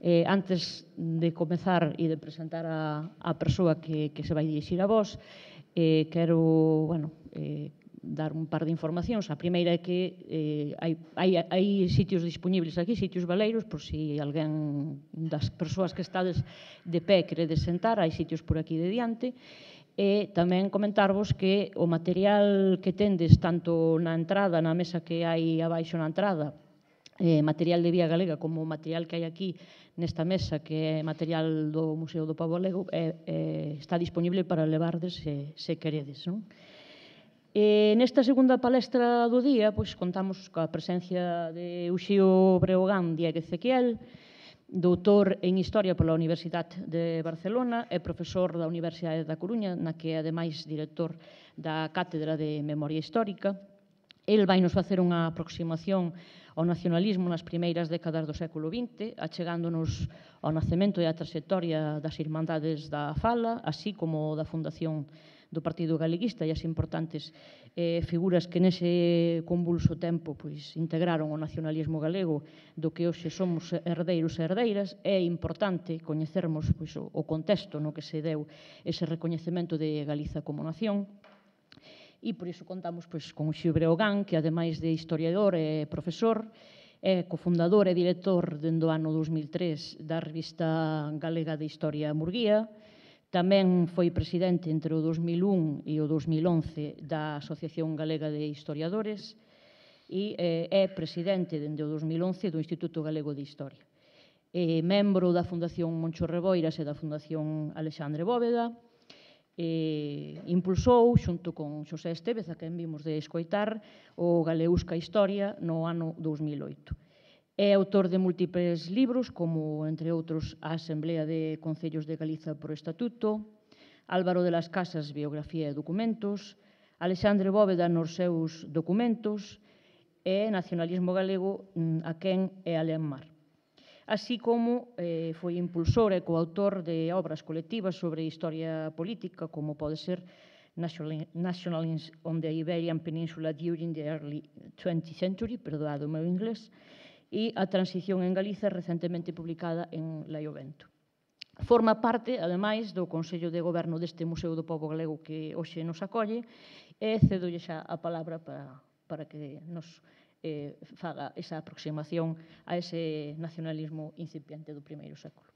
Antes de comezar e de presentar a persoa que se vai dirixir a vos, quero, dar un par de informacións. A primeira é que hai sitios disponibles aquí, sitios baleiros, por si alguén das persoas que estades de pé queredes sentar, hai sitios por aquí de diante. E tamén comentarvos que o material que tendes tanto na entrada, na mesa que hai abaixo na entrada, material de Vía Galega como o material que hai aquí nesta mesa, que é material do Museo do Pobo Galego, está disponible para levardes se queredes. Nesta segunda palestra do día, contamos coa presencia de Uxío Breogán Diéguez Ezequiel, doutor en Historia pola Universidade de Barcelona e profesor da Universidade da Coruña, na que é, ademais, director da Cátedra de Memoria Histórica. El vai nos facer unha aproximación ao nacionalismo nas primeiras décadas do século XX, achegándonos ao nacemento e á trayectoria das Irmandades da Fala, así como da fundación do Partido Galeguista e as importantes figuras que nese convulso tempo integraron o nacionalismo galego, do que hoxe somos herdeiros e herdeiras. É importante coñecermos o contexto no que se deu ese recoñecemento de Galiza como nación. E por iso contamos con Uxío Breogán, que ademais de historiador e profesor, é cofundador e director dende o ano 2003 da revista galega de Historia Murguía. Tamén foi presidente entre o 2001 e o 2011 da Asociación Galega de Historiadores e é presidente dende o 2011 do Instituto Galego de Historia. É membro da Fundación Moncho Reboiras e da Fundación Alexandre Bóveda. Impulsou, xunto con Xosé Estévez, a quen vimos de escoitar, o Galeusca Historia no ano 2008. É autor de múltiples libros, como, entre outros, a Asemblea de Concellos de Galiza por Estatuto, Álvaro de las Casas, Biografía e Documentos, Alexandre Bóveda nos seus documentos e Nacionalismo Galego, a quen e Alén Mar. Así como foi impulsor e coautor de obras colectivas sobre historia política, como pode ser Nationalism on the Iberian Peninsula during the early 20th century, perdoado o meu inglés, e a transición en Galiza, recentemente publicada en Laiovento. Forma parte, ademais, do Consello de Goberno deste Museo do Pobo Galego que hoxe nos acolle, e cedolle xa a palabra para que nos faga esa aproximación a ese nacionalismo incipiente do primeiro século.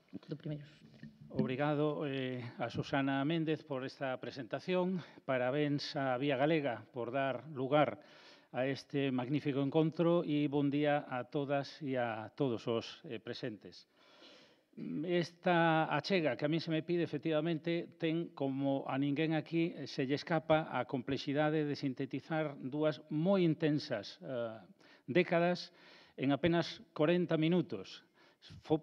Obrigado a Susana Méndez por esta presentación. Parabéns á Vía Galega por dar lugar a este magnífico encontro e bon día a todas e a todos os presentes. Esta achega que a mí se me pide, efectivamente, ten como a ninguén aquí se lle escapa a complexidade de sintetizar dúas moi intensas décadas en apenas 40 minutos.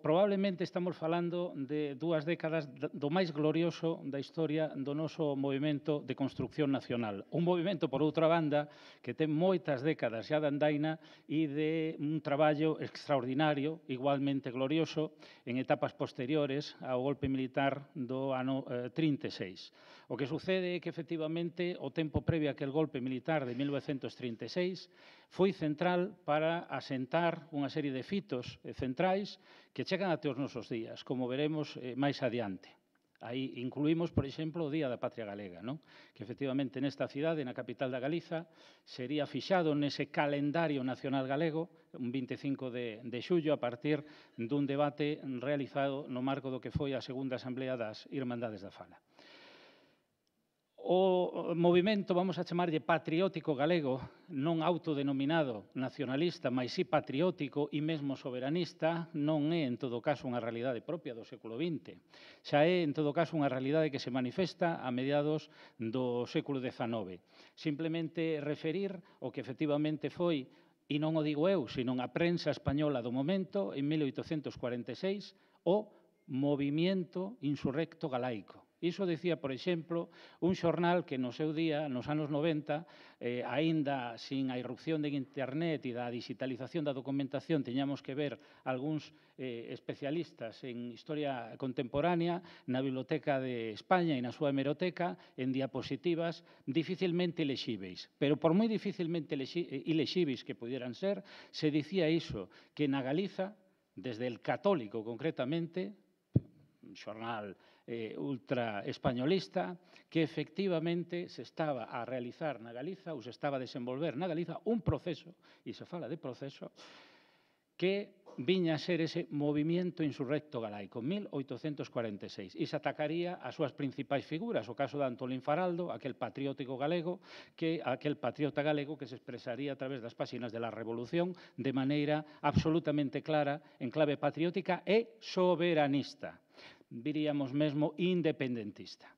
Probablemente estamos falando de dúas décadas do máis glorioso da historia do noso movimento de construcción nacional. Un movimento, por outra banda, que ten moitas décadas xa de andaina e de un traballo extraordinario, igualmente glorioso, en etapas posteriores ao golpe militar do ano 36. O que sucede é que, efectivamente, o tempo previo a aquel golpe militar de 1936 foi central para asentar unha serie de fitos centrais que chegan até os nosos días, como veremos máis adiante. Aí incluímos, por exemplo, o Día da Patria Galega, que efectivamente nesta cidade, na capital da Galiza, sería fixado nese calendario nacional galego, un 25 de xullo, a partir dun debate realizado no marco do que foi a segunda Asamblea das Irmandades da Fala. O movimento, vamos a chamarlle patriótico galego, non autodenominado nacionalista, mas sí patriótico e mesmo soberanista, non é, en todo caso, unha realidade propia do século XX. Xa é, en todo caso, unha realidade que se manifesta a mediados do século XIX. Simplemente referir o que efectivamente foi, e non o digo eu, sino a prensa española do momento, en 1846, o Movimiento Insurrecto Galaico. Iso decía, por exemplo, un xornal que no seu día, nos anos 90, aínda sin a irrupción de internet e da digitalización da documentación, teñamos que ver algúns especialistas en historia contemporánea na Biblioteca de España e na súa hemeroteca, en diapositivas dificilmente lexíveis. Pero por moi dificilmente lexíveis que pudieran ser, se dicía iso, que na Galiza desde El Católico concretamente, un xornal ultra españolista, que efectivamente se estaba a realizar na Galiza ou se estaba a desenvolver na Galiza un proceso, e se fala de proceso, que viña a ser ese movimento insurrecto galaico, 1846, e se atacaría as súas principais figuras, o caso de Antolín Faraldo, aquel patriótico galego, aquel patriota galego que se expresaría a través das páxinas de la Revolución de maneira absolutamente clara, en clave patriótica e soberanista, diríamos mesmo independentista.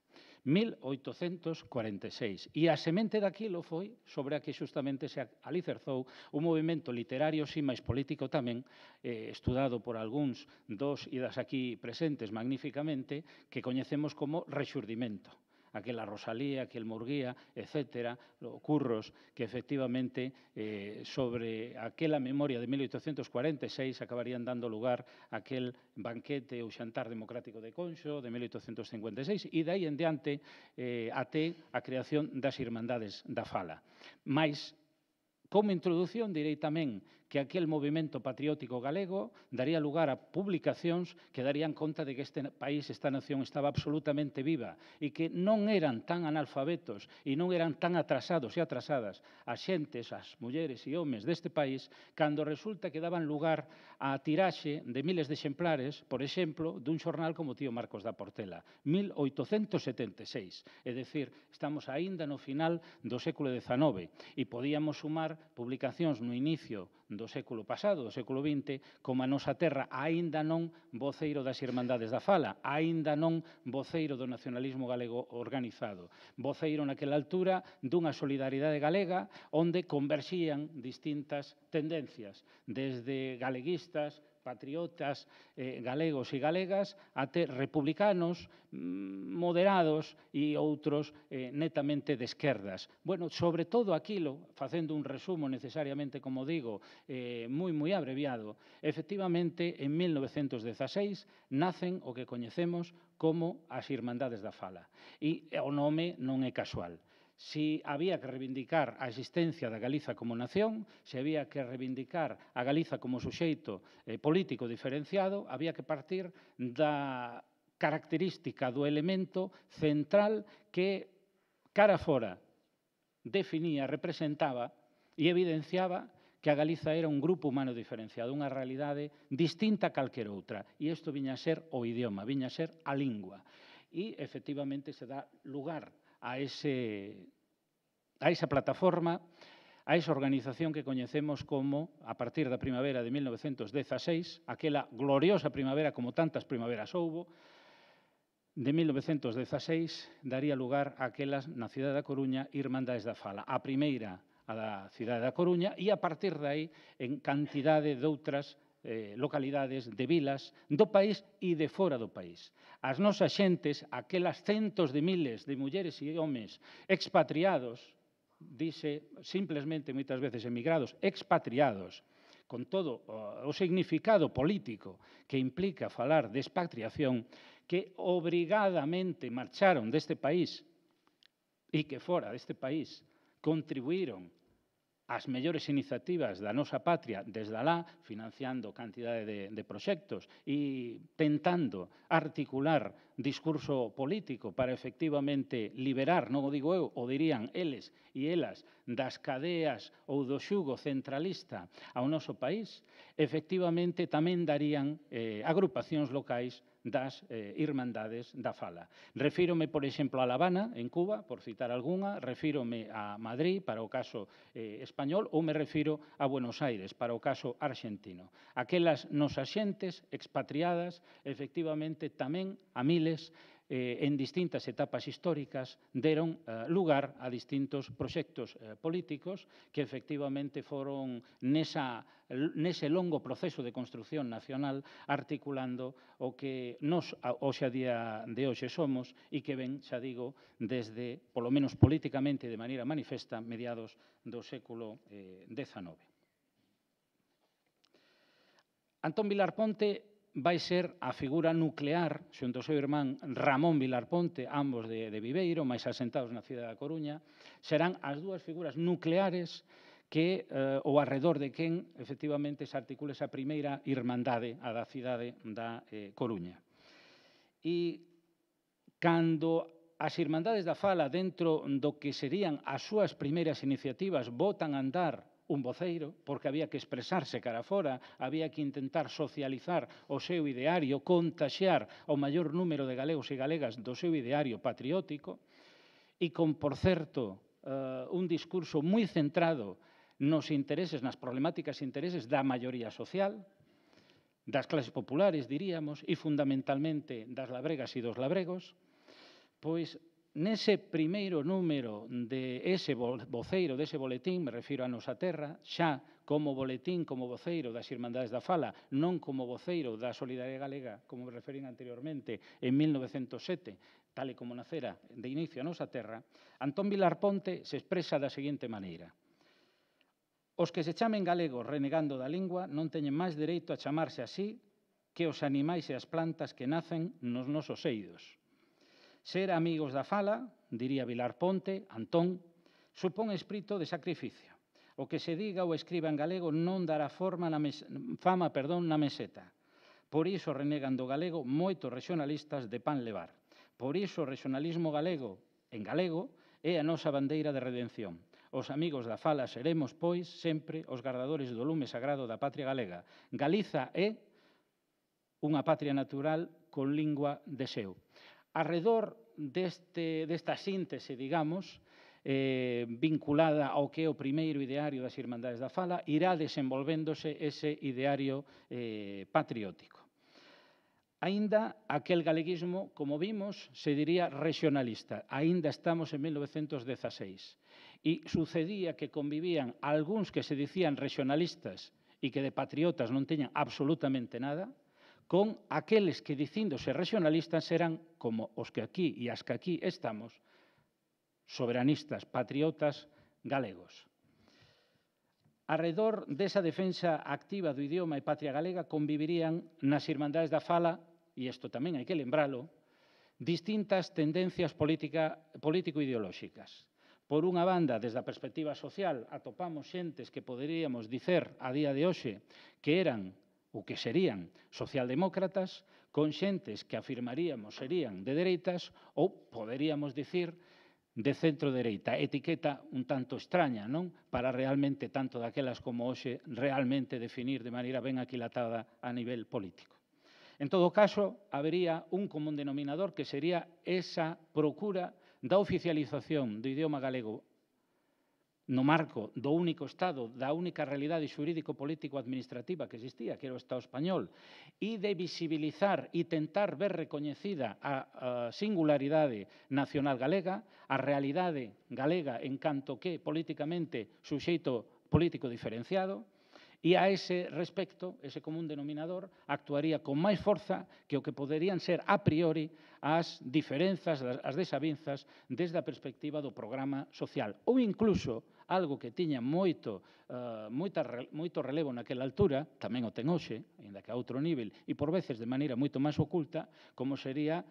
1846. E a semente daquilo foi sobre a que xustamente se alicerzou un movimento literario, si máis político tamén, estudado por algúns dos e das aquí presentes magníficamente, que coñecemos como Rexurdimento. Aquela Rosalía, aquel Murguía, etcétera, Curros, que efectivamente sobre aquela memoria de 1846 acabarían dando lugar a aquel banquete ou xantar democrático de Conxo de 1856 e dai en diante até a creación das Irmandades da Fala. Mais, como introdución, direi tamén que aquel movimento patriótico galego daría lugar a publicacións que darían conta de que este país, esta nación, estaba absolutamente viva e que non eran tan analfabetos e non eran tan atrasados e atrasadas as xentes, as mulleres e homes deste país, cando resulta que daban lugar a tiraxe de miles de exemplares, por exemplo, dun xornal como Tío Marcos da Portela, 1876. É dicir, estamos aínda no final do século XIX e podíamos sumar publicacións no inicio do século pasado, do século XX, como A Nosa Terra, aínda non voceiro das Irmandades da Fala, aínda non voceiro do nacionalismo galego organizado, voceiro naquela altura dunha solidaridade galega onde converxían distintas tendencias, desde galeguistas, patriotas galegos e galegas, até republicanos, moderados e outros netamente de esquerdas. Bueno, sobre todo aquilo, facendo un resumo necesariamente, como digo, moi abreviado, efectivamente, en 1916 nacen o que coñecemos como as Irmandades da Fala. E o nome non é casual. Si había que reivindicar a existencia da Galiza como nación, se había que reivindicar a Galiza como suxeito político diferenciado, había que partir da característica do elemento central que cara fora definía, representaba e evidenciaba que a Galiza era un grupo humano diferenciado, unha realidade distinta a calquera outra. E isto viña a ser o idioma, viña a ser a lingua. E, efectivamente, se dá lugar a esa plataforma, a esa organización que coñecemos como, a partir da primavera de 1916, aquela gloriosa primavera, como tantas primaveras houbo, de 1916, daría lugar a aquelas, na cidade da Coruña, Irmandades da Fala. A primeira, a da cidade da Coruña, e a partir de aí, en cantidade de outras localidades, de vilas, do país e de fora do país. As nosas xentes, aquelas centos de miles de mulleres e homes expatriados, dice simplesmente moitas veces emigrados, expatriados, con todo o significado político que implica falar de expatriación, que obrigadamente marcharon deste país e que fora deste país contribuíron as mellores iniciativas da nosa patria desde alá, financiando cantidade de proxectos e tentando articular discurso político para efectivamente liberar, non o digo eu, o dirían eles e elas, das cadeas ou do xugo centralista ao noso país, efectivamente tamén darían agrupacións locais das Irmandades da Fala. Refírome, por exemplo, a La Habana, en Cuba, por citar algunha, refírome a Madrid, para o caso español, ou me refiro a Buenos Aires, para o caso arxentino. Aquelas nosas xentes expatriadas, efectivamente, tamén a miles en distintas etapas históricas deron lugar a distintos proxectos políticos que efectivamente foron nese longo proceso de construción nacional articulando o que nos hoxe a día de hoxe somos e que ven, xa digo, desde, polo menos políticamente e de maneira manifesta, mediados do século XIX. Antón Vilar Ponte vai ser a figura nuclear, xunto ao seu irmán Ramón Vilar Ponte, ambos de Viveiro, máis asentados na cidade da Coruña, serán as dúas figuras nucleares que o arredor de quen, efectivamente, se articula esa primeira irmandade, a da cidade da Coruña. E cando as Irmandades da Fala, dentro do que serían as súas primeiras iniciativas, botan a andar un voceiro, porque había que expresarse cara fora, había que intentar socializar o seu ideario, contaxiar ao maior número de galegos e galegas do seu ideario patriótico, e con, por certo, un discurso moi centrado nos intereses, nas problemáticas e intereses da maioría social, das clases populares, diríamos, e fundamentalmente das labregas e dos labregos, pois nese primeiro número de ese voceiro, dese boletín, me refiro a Nosa Terra, xa como boletín, como voceiro das Irmandades da Fala, non como voceiro da Solidariedade Galega, como me referín anteriormente, en 1907, tal e como nacera de inicio a Nosa Terra, Antón Vilar Ponte se expresa da seguinte maneira: os que se chamen galegos renegando da lingua non teñen máis dereito a chamarse así que os animais e as plantas que nacen nos nosos eidos. Ser amigos da fala, diría Vilar Ponte, Antón, supón espírito de sacrificio. O que se diga ou escriba en galego non dará fama na meseta. Por iso renegan do galego moitos regionalistas de pan levar. Por iso o regionalismo galego, en galego, é a nosa bandeira de redención. Os amigos da fala seremos, pois, sempre os gardadores do lume sagrado da patria galega. Galiza é unha patria natural con lingua de seu. Arredor desta síntese, digamos, vinculada ao que é o primeiro ideario das Irmandades da Fala, irá desenvolvéndose ese ideario patriótico. Aínda aquel galeguismo, como vimos, se diría regionalista. Aínda estamos en 1916. E sucedía que convivían algúns que se dicían regionalistas e que de patriotas non teñan absolutamente nada, con aqueles que, dicíndose regionalistas, eran, como os que aquí e as que aquí estamos, soberanistas, patriotas galegos. Arredor desa defensa activa do idioma e patria galega convivirían nas Irmandades da Fala, e isto tamén hai que lembralo, distintas tendencias político-ideolóxicas. Por unha banda, desde a perspectiva social, atopamos xentes que poderíamos dicer a día de hoxe que eran ou que serían socialdemócratas, con xentes que afirmaríamos serían de dereitas ou poderíamos dicir de centro-dereita. Etiqueta un tanto extraña, non? Para realmente, tanto daquelas como hoxe, realmente definir de maneira ben aquilatada a nivel político. En todo caso, habería un común denominador que sería esa procura da oficialización do idioma galego no marco do único Estado, da única realidade xurídico-político-administrativa que existía, que era o Estado español, e de visibilizar e tentar ver recoñecida a singularidade nacional galega, a realidade galega en canto que políticamente suxeito político diferenciado, e a ese respecto, ese común denominador, actuaría con máis forza que o que poderían ser a priori as diferenzas, as desavinzas desde a perspectiva do programa social. Ou incluso, algo que tiña moito relevo naquela altura, tamén o ten hoxe, ainda que a outro nivel, e por veces de maneira moito máis oculta, como sería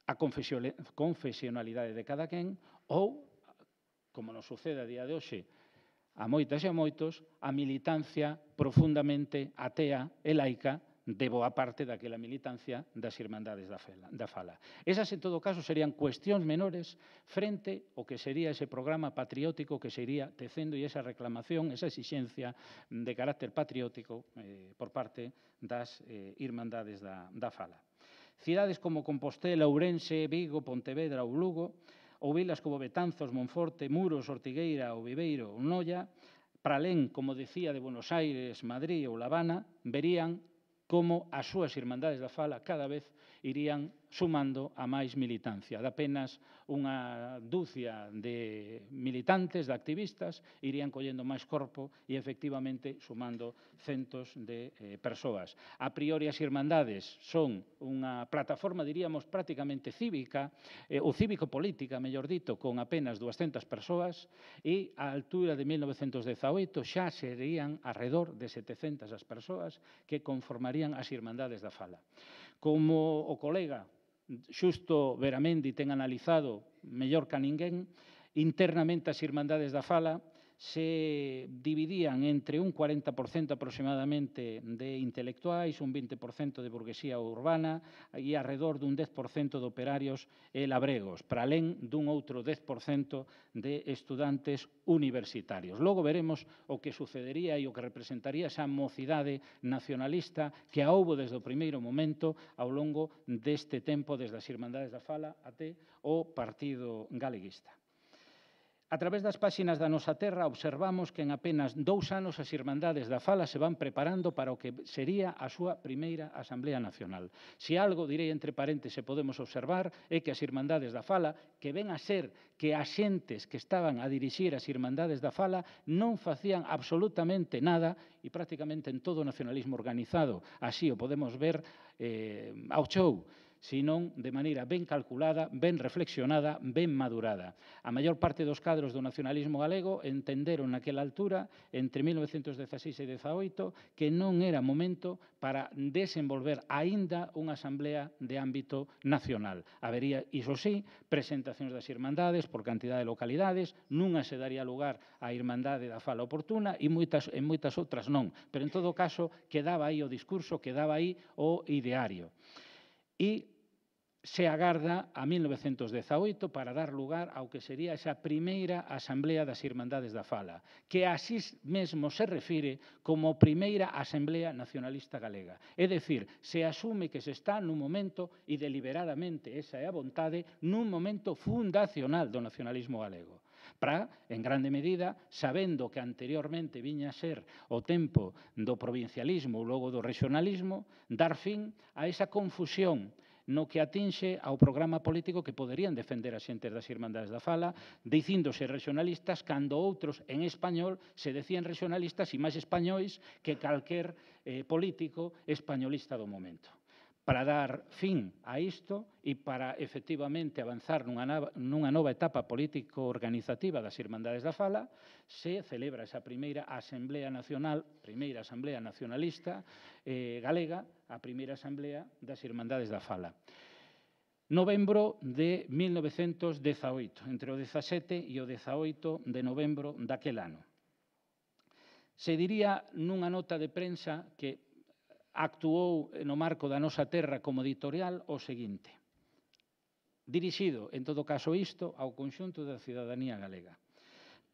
a confesionalidade de cada quen ou, como nos sucede a día de hoxe, a moitas e a moitos, a militancia profundamente atea e laica de boa parte daquela militancia das Irmandades da Fala. Esas, en todo caso, serían cuestións menores frente ao que sería ese programa patriótico que se iría tecendo e esa reclamación, esa exixencia de carácter patriótico por parte das Irmandades da Fala. Cidades como Compostela, Ourense, Vigo, Pontevedra ou Lugo, ou vilas como Betanzos, Monforte, Muros, Ortigueira ou Viveiro ou Noia, para alén, como decía, de Buenos Aires, Madrid ou La Habana, verían como as súas Irmandades da Fala cada vez irían sumando a máis militancia. De apenas unha dúcia de militantes, de activistas, irían collendo máis corpo e, efectivamente, sumando centos de persoas. A priori, as Irmandades son unha plataforma, diríamos, prácticamente cívica, ou cívico-política, mellor dito, con apenas 200 persoas, e á altura de 1918 xa serían alrededor de 700 as persoas que conformarían as Irmandades da Fala. Como o colega Xusto Beramendi ten analizado mellor que a ninguén, internamente as Irmandades da Fala se dividían entre un 40% aproximadamente de intelectuais, un 20% de burguesía urbana e alrededor dun 10% de operarios e labregos, para alén dun outro 10% de estudantes universitarios. Logo veremos o que sucedería e o que representaría esa mocidade nacionalista que a houbo desde o primeiro momento ao longo deste tempo, desde as Irmandades da Fala até o Partido Galeguista. A través das páxinas da nosa terra observamos que en apenas 2 anos as Irmandades da Fala se van preparando para o que sería a súa primeira Asamblea Nacional. Se algo, direi entre parénteses, podemos observar é que as Irmandades da Fala, que ven a ser que as xentes que estaban a dirixir as Irmandades da Fala non facían absolutamente nada e prácticamente en todo o nacionalismo organizado, así o podemos ver ao chou, senón de maneira ben calculada, ben reflexionada, ben madurada. A maior parte dos cadros do nacionalismo galego entenderon naquela altura, entre 1916 e 18, que non era momento para desenvolver aínda unha asamblea de ámbito nacional. Habería, iso sí, presentacións das irmandades por cantidad de localidades, nunha se daría lugar á Irmandade da Fala oportuna e en moitas outras non, pero en todo caso quedaba aí o discurso, quedaba aí o ideario. E se agarda a 1918 para dar lugar ao que sería esa primeira Asamblea das Irmandades da Fala, que así mesmo se refire como primeira Asamblea Nacionalista Galega. É dicir, se asume que se está nun momento, e deliberadamente esa é a vontade, nun momento fundacional do nacionalismo galego. Para, en grande medida, sabendo que anteriormente viña a ser o tempo do provincialismo ou logo do regionalismo, dar fin a esa confusión no que atinxe ao programa político que poderían defender as xentes das Irmandades da Fala, dicíndose regionalistas cando outros en español se decían regionalistas e máis españois que calquer político españolista do momento. Para dar fin a isto e para efectivamente avanzar nunha nova etapa político-organizativa das Irmandades da Fala, se celebra esa primeira Asamblea Nacional, primeira Asamblea Nacionalista galega, a primeira Asamblea das Irmandades da Fala. Novembro de 1918, entre o 17 e o 18 de novembro daquel ano. Se diría nunha nota de prensa que actuou no marco da nosa terra como editorial o seguinte: dirixido, en todo caso isto, ao conxunto da cidadanía galega.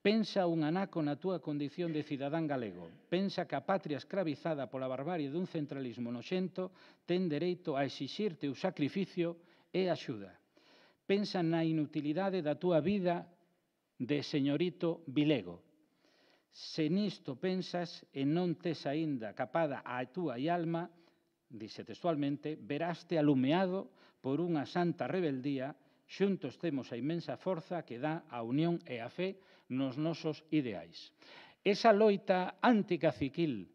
Pensa un anaco na túa condición de cidadán galego. Pensa que a patria escravizada pola barbarie dun centralismo noxento ten dereito a exixirte o sacrificio e axuda. Pensa na inutilidade da túa vida de señorito vilego. Se nisto pensas e non tes aínda capada a túa alma, dice textualmente, veraste alumeado por unha santa rebeldía, xuntos temos a inmensa forza que dá a unión e a fe nos nosos ideais. Esa loita anticaciquil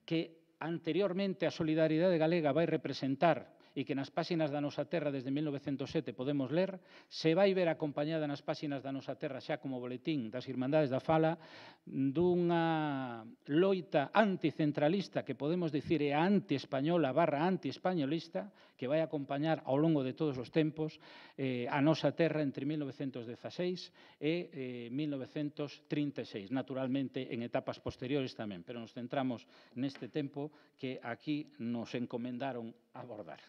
que anteriormente a Solidariedade Galega vai representar e que nas páxinas da nosa terra desde 1907 podemos ler, se vai ver acompañada nas páxinas da nosa terra xa como boletín das Irmandades da Fala dunha loita anticentralista que podemos dicir é anti-española barra anti-españolista que vai acompañar ao longo de todos os tempos a nosa terra entre 1916 e 1936, naturalmente en etapas posteriores tamén, pero nos centramos neste tempo que aquí nos encomendaron abordar.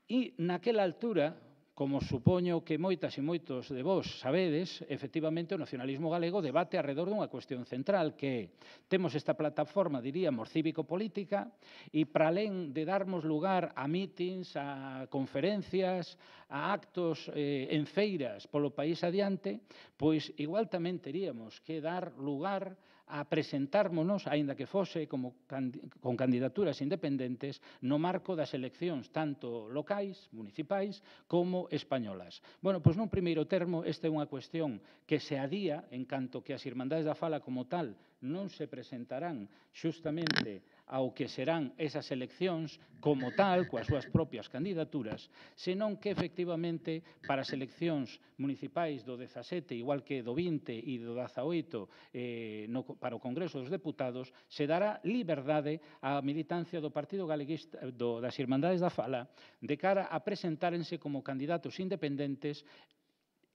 E naquela altura, como supoño que moitas e moitos de vós sabedes, efectivamente o nacionalismo galego debate alrededor dunha cuestión central que temos esta plataforma, diríamos, cívico-política e para alén de darmos lugar a mítins, a conferencias, a actos en feiras polo país adiante, pois igual tamén teríamos que dar lugar a presentármonos, aínda que fose con candidaturas independentes, no marco das eleccións tanto locais, municipais, como españolas. Bueno, pois nun primeiro termo, esta é unha cuestión que se adía en canto que as Irmandades da Fala como tal non se presentarán xustamente ao que serán esas eleccións como tal, coas súas propias candidaturas, senón que efectivamente para as eleccións municipais do 17, igual que do 20 e do 18 para o Congreso dos Deputados, se dará liberdade á militancia do Partido Galeguista das Irmandades da Fala de cara a presentárense como candidatos independentes,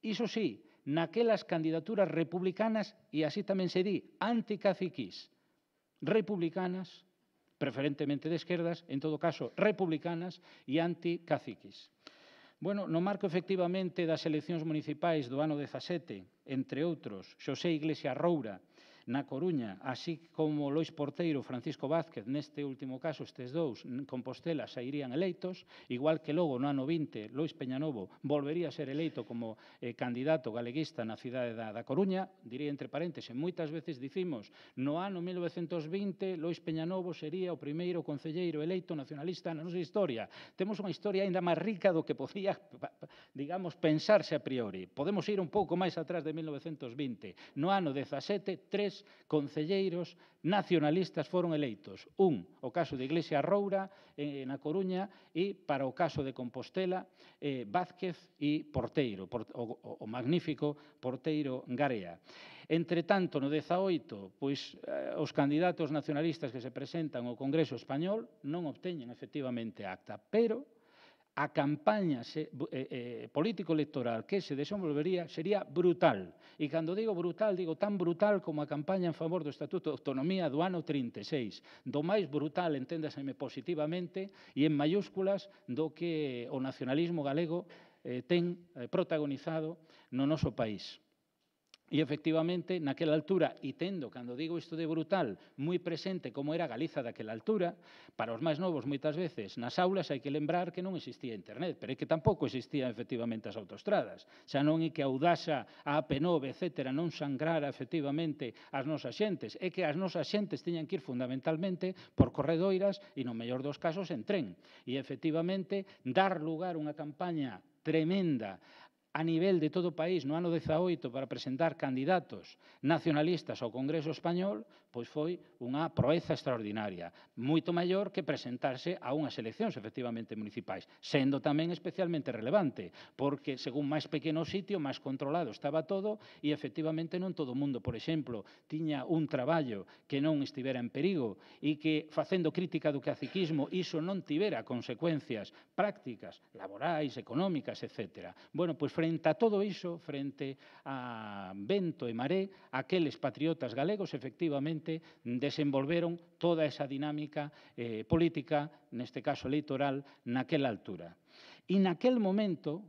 iso sí, naquelas candidaturas republicanas e así tamén se di anticaciquís, republicanas, preferentemente de esquerdas, en todo caso republicanas e anticaciquís. Bueno, no marco efectivamente das eleccións municipais do ano 17, entre outros, Xosé Iglesias Roura, na Coruña, así como Lois Porteiro, Francisco Vázquez, neste último caso, estes dous, en Compostela, sairían eleitos, igual que logo no ano 20, Lois Peñanovo volvería a ser eleito como candidato galeguista na cidade da Coruña, diría entre parénteses, moitas veces dicimos, no ano 1920, Lois Peñanovo sería o primeiro concelleiro eleito nacionalista na nosa historia. Temos unha historia aínda máis rica do que podía, digamos, pensarse a priori. Podemos ir un pouco máis atrás de 1920. No ano 17, 3 concelleiros nacionalistas foron eleitos. O caso de Iglesias Roura, na Coruña, e para o caso de Compostela, Vázquez e Porteiro, o magnífico Porteiro Garea. Entre tanto, no 18, pois, os candidatos nacionalistas que se presentan ao Congreso Español non obteñen efectivamente acta, pero a campaña político-electoral que se desenvolvería sería brutal. E cando digo brutal, digo tan brutal como a campaña en favor do Estatuto de Autonomía do ano 36. Do máis brutal, enténdaseme positivamente, e en mayúsculas do que o nacionalismo galego ten protagonizado no noso país. E, efectivamente, naquela altura, e tendo, cando digo isto de brutal, moi presente como era Galiza daquela altura, para os máis novos, moitas veces, nas aulas hai que lembrar que non existía internet, pero é que tampouco existían, efectivamente, as autoestradas. Xa non é que a Audasa, a AP9, etc., non sangrara, efectivamente, as nosas xentes, é que as nosas xentes tiñan que ir, fundamentalmente, por corredoiras e, no mellor dos casos, en tren. E, efectivamente, dar lugar a unha campaña tremenda a nivel de todo o país no ano 18 para presentar candidatos nacionalistas ao Congreso Español, pois foi unha proeza extraordinaria, moito maior que presentarse a unhas eleccións efectivamente municipais, sendo tamén especialmente relevante, porque según máis pequeno o sitio, máis controlado estaba todo e efectivamente non todo o mundo, por exemplo, tiña un traballo que non estivera en perigo e que, facendo crítica do caciquismo, iso non tivera consecuencias prácticas, laborais, económicas, etc. Bueno, pois frente a todo iso, frente a vento e maré, aqueles patriotas galegos efectivamente desenvolveron toda esa dinámica política, neste caso electoral, naquela altura. E naquel momento,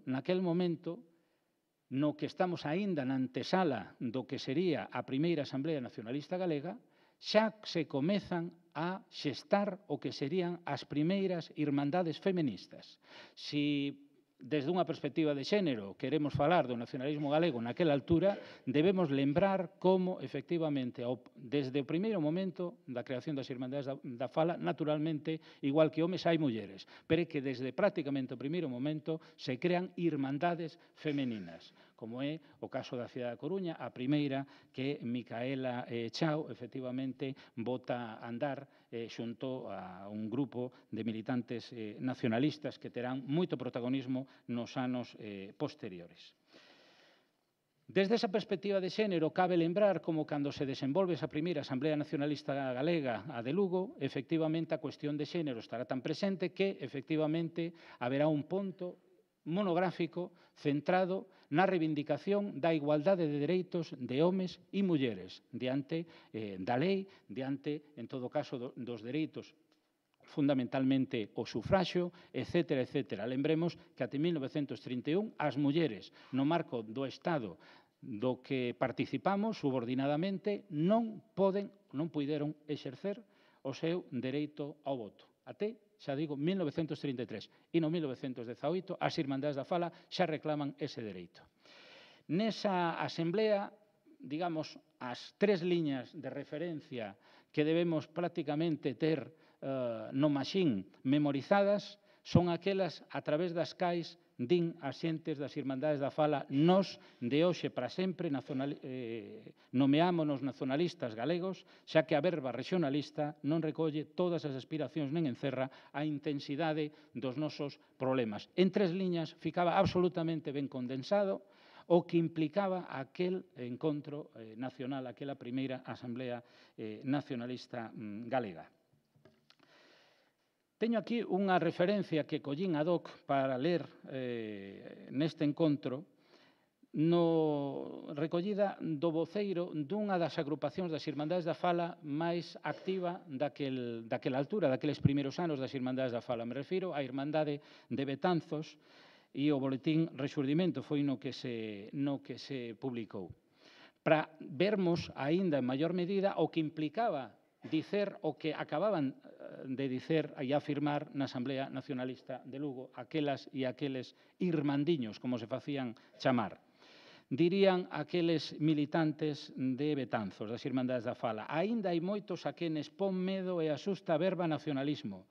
no que estamos aínda na antesala do que sería a primeira Asamblea Nacionalista Galega, xa se comezan a xestar o que serían as primeiras irmandades feministas. Si desde unha perspectiva de xénero queremos falar do nacionalismo galego naquela altura, debemos lembrar como, efectivamente, desde o primeiro momento da creación das Irmandades da Fala, naturalmente, igual que homes, hai mulleres, pero é que desde prácticamente o primeiro momento se crean irmandades femeninas, como é o caso da cidade da Coruña, a primeira que Micaela Chao, efectivamente, bota a andar xunto a un grupo de militantes nacionalistas que terán moito protagonismo nos anos posteriores. Desde esa perspectiva de xénero, cabe lembrar como cando se desenvolve esa primeira Asamblea Nacionalista Galega, a de Lugo, efectivamente a cuestión de xénero estará tan presente que, efectivamente, haberá un ponto monográfico centrado na reivindicación da igualdade de dereitos de homes e mulleres diante da lei, diante, en todo caso, dos dereitos fundamentalmente o sufraxio, etc., etc. Lembremos que até 1931 as mulleres no marco do Estado do que participamos subordinadamente non puideron exercer o seu dereito ao voto. Até, xa digo, 1933. E no 1918 as Irmandades da Fala xa reclaman ese dereito. Nesa asamblea, digamos, as tres liñas de referencia que debemos prácticamente ter no maxín memorizadas son aquelas a través das cais din as xentes das Irmandades da Fala: nós de hoxe para sempre nomeámonos nacionalistas galegos, xa que a verba rexionalista non recolle todas as aspiracións nen encerra a intensidade dos nosos problemas. En tres liñas ficaba absolutamente ben condensado o que implicaba aquel encontro nacional, aquela primeira Asamblea Nacionalista Galega. Teño aquí unha referencia que collín ad hoc para ler neste encontro no recollida do voceiro dunha das agrupacións das Irmandades da Fala máis activa daquela altura, daqueles primeiros anos das Irmandades da Fala. Me refiro á Irmandade de Betanzos, e o boletín Rexurdimento foi no que se publicou. Para vermos aínda en maior medida o que implicaba dicer o que acababan de dicer e afirmar na Asamblea Nacionalista de Lugo, aquelas e aqueles irmandiños, como se facían chamar. Dirían aqueles militantes de Betanzos, das Irmandades da Fala: aínda hai moitos a quenes pon medo e asusta a verba nacionalismo,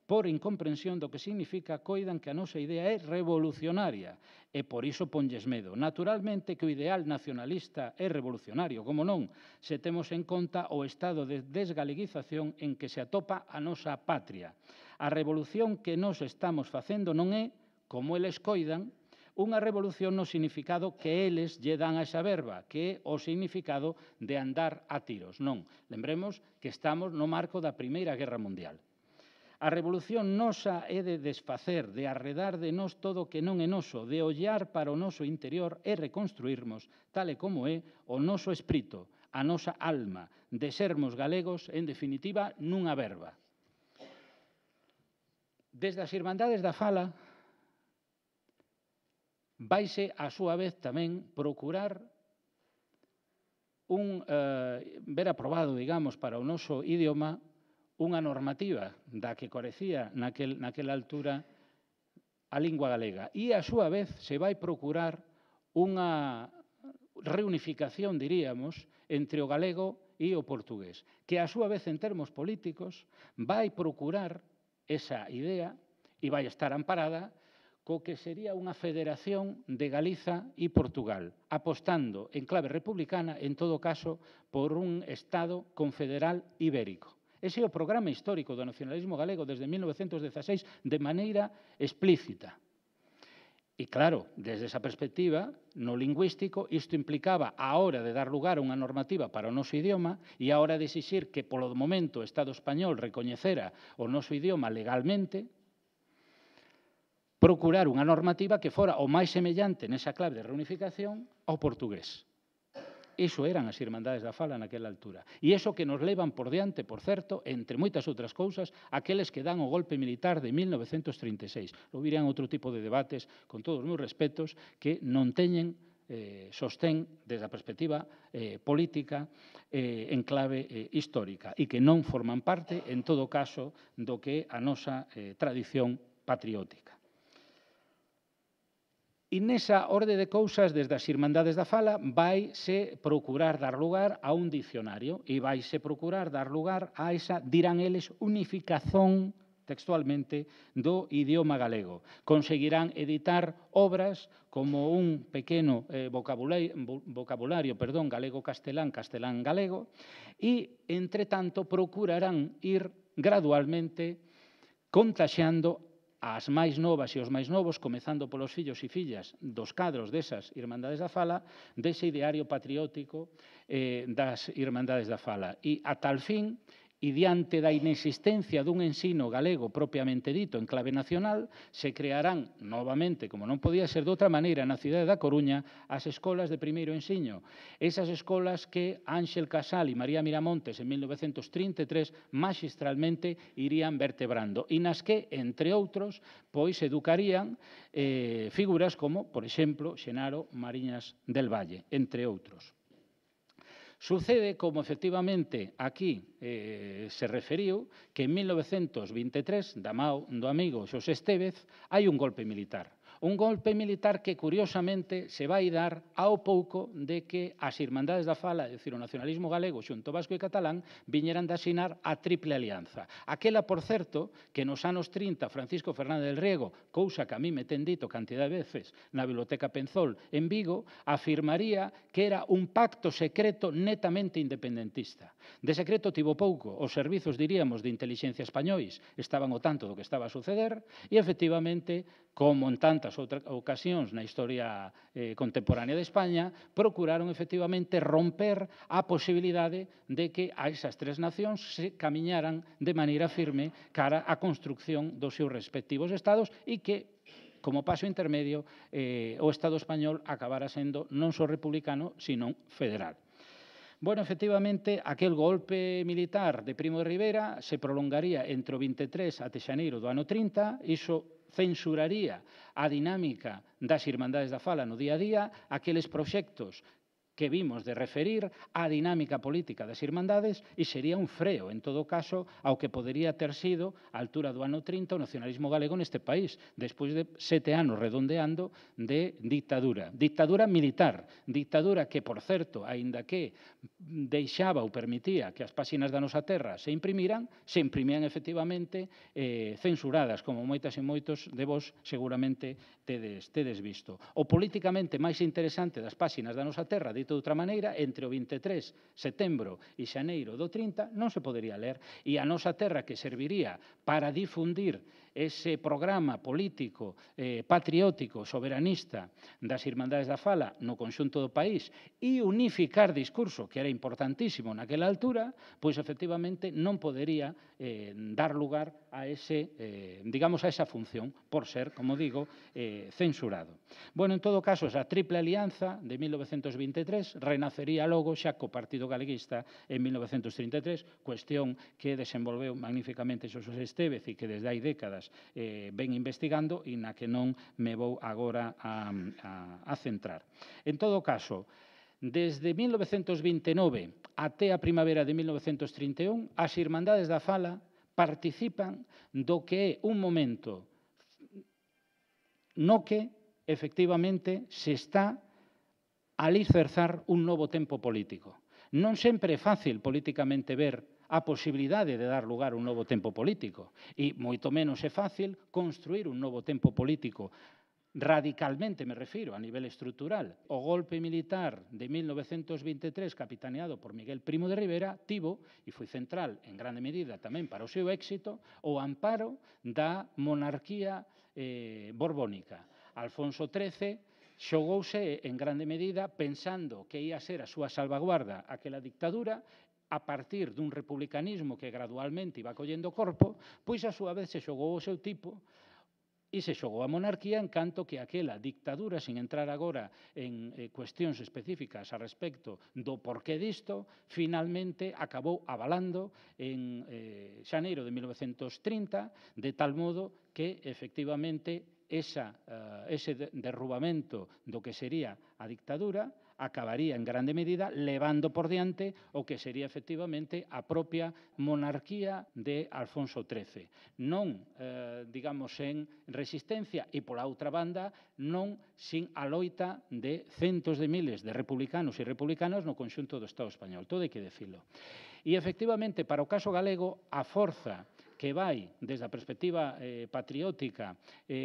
por incomprensión do que significa, coidan que a nosa idea é revolucionaria e por iso ponlles medo. Naturalmente que o ideal nacionalista é revolucionario, como non, se temos en conta o estado de desgaleguización en que se atopa a nosa patria. A revolución que nos estamos facendo non é, como eles coidan, unha revolución no significado que eles lle dan a esa verba, que é o significado de andar a tiros. Non, lembremos que estamos no marco da Primeira Guerra Mundial. A revolución nosa é de desfacer, de arredar de nós todo o que non é noso, de ollar para o noso interior e reconstruirmos, tal e como é, o noso espírito, a nosa alma, de sermos galegos, en definitiva, nunha verba. Desde as Irmandades da Fala, vaise, a súa vez, tamén procurar ver aprobado, digamos, para o noso idioma, unha normativa da que carecía naquela altura a lingua galega. E, a súa vez, se vai procurar unha reunificación, diríamos, entre o galego e o portugués, que, a súa vez, en termos políticos, vai procurar esa idea e vai estar amparada co que sería unha federación de Galiza e Portugal, apostando en clave republicana, en todo caso, por un Estado confederal ibérico. Ese é o programa histórico do nacionalismo galego desde 1916 de maneira explícita. E claro, desde esa perspectiva, no lingüístico, isto implicaba a hora de dar lugar a unha normativa para o noso idioma e a hora de exixir que, polo momento, o Estado español recoñecera o noso idioma legalmente, procurar unha normativa que fora o máis semellante nesa clave de reunificación ao portugués. Iso eran as Irmandades da Fala naquela altura. E iso que nos levan por diante, por certo, entre moitas outras cousas, aqueles que dan o golpe militar de 1936. Ouvirán outro tipo de debates, con todos os meus respetos, que non teñen sostén desde a perspectiva política en clave histórica e que non forman parte, en todo caso, do que é a nosa tradición patriótica. E nesa orde de cousas, desde as Irmandades da Fala, vaise procurar dar lugar a un dicionario e vaise procurar dar lugar a esa, dirán eles, unificación textualmente do idioma galego. Conseguirán editar obras como un pequeno vocabulario galego-castelán, castelán-galego e, entre tanto, procurarán ir gradualmente contaxiando as máis novas e os máis novos, comezando polos fillos e fillas dos cadros desas Irmandades da Fala, dese ideario patriótico das Irmandades da Fala. E a tal fin, e diante da inexistencia dun ensino galego propiamente dito en clave nacional, se crearán novamente, como non podía ser de outra maneira, na cidade da Coruña, as escolas de primeiro ensino. Esas escolas que Ángel Casal e María Miramontes en 1933 magistralmente irían vertebrando e nas que, entre outros, pois educarían figuras como, por exemplo, Xenaro Mariñas del Valle, entre outros. Sucede, como efectivamente aquí se referiu, que en 1923, da mao do amigo Xosé Estévez, hai un golpe militar. Un golpe militar que, curiosamente, se vai dar ao pouco de que as Irmandades da Fala, é dicir, o nacionalismo galego xunto vasco e catalán, viñeran de asinar a Triple Alianza. Aquela, por certo, que nos anos 30 Francisco Fernández del Riego, cousa que a mí me ten dito cantidad de veces na Biblioteca Penzol en Vigo, afirmaría que era un pacto secreto netamente independentista. De secreto tivo pouco, os servizos, diríamos, de intelixencia españois estaban ao tanto do que estaba a suceder e, efectivamente, como en tantas outras ocasións na historia contemporánea de España, procuraron efectivamente romper a posibilidade de que a esas tres nacións se camiñaran de maneira firme cara á construcción dos seus respectivos estados e que como paso intermedio, o Estado español acabara sendo non só republicano, sino federal. Bueno, efectivamente, aquel golpe militar de Primo de Rivera se prolongaría entre o 23 até xaneiro do ano 30, iso censuraría a dinámica das Irmandades da Fala no día a día, aqueles proxectos que vimos de referir á dinámica política das Irmandades e sería un freo, en todo caso, ao que podería ter sido, a altura do ano 30, o nacionalismo galego neste país, despois de 7 anos redondeando de dictadura. Dictadura militar, dictadura que, por certo, aínda que deixaba ou permitía que as páxinas da nosa terra se imprimían efectivamente censuradas, como moitas e moitos de vos seguramente tedes visto. O políticamente máis interesante das páxinas da nosa terra, dito de outra maneira, entre o 23 setembro e xaneiro do 30 non se podería ler, e a nosa terra que serviría para difundir ese programa político patriótico, soberanista das Irmandades da Fala no conxunto do país e unificar discurso, que era importantísimo naquela altura, pois efectivamente non podería dar lugar a ese, digamos, a esa función, por ser, como digo, censurado. Bueno, en todo caso, esa triple alianza de 1923 renacería logo xa co Partido Galeguista en 1933, cuestión que desenvolveu magníficamente Xosé Estévez e que desde hai décadas ven investigando e na que non me vou agora a centrar. En todo caso, desde 1929 até a primavera de 1931, as Irmandades da Fala participan do que é un momento no que, efectivamente, se está a alicerçar un novo tempo político. Non sempre é fácil políticamente ver a posibilidade de dar lugar a un novo tempo político e moito menos é fácil construir un novo tempo político radicalmente, me refiro, a nivel estrutural. O golpe militar de 1923, capitaneado por Miguel Primo de Rivera, tivo, e foi central en grande medida tamén para o seu éxito, o amparo da monarquía borbónica. Alfonso XIII xogouse en grande medida pensando que ia ser a súa salvaguarda aquela dictadura a partir dun republicanismo que gradualmente iba collendo corpo, pois a súa vez se xogou o seu tipo e se xogou a monarquía en canto que aquela dictadura, sin entrar agora en cuestións específicas a respecto do porqué disto, finalmente acabou avalando en xaneiro de 1930, de tal modo que, efectivamente, ese derrubamento do que sería a dictadura acabaría en grande medida levando por diante o que sería efectivamente a propia monarquía de Alfonso XIII. Non, digamos, en resistencia e, pola outra banda, non sin a loita de centos de miles de republicanos e republicanas no conxunto do Estado español. Todo hai que decilo. E, efectivamente, para o caso galego, a forza que vai, desde a perspectiva patriótica,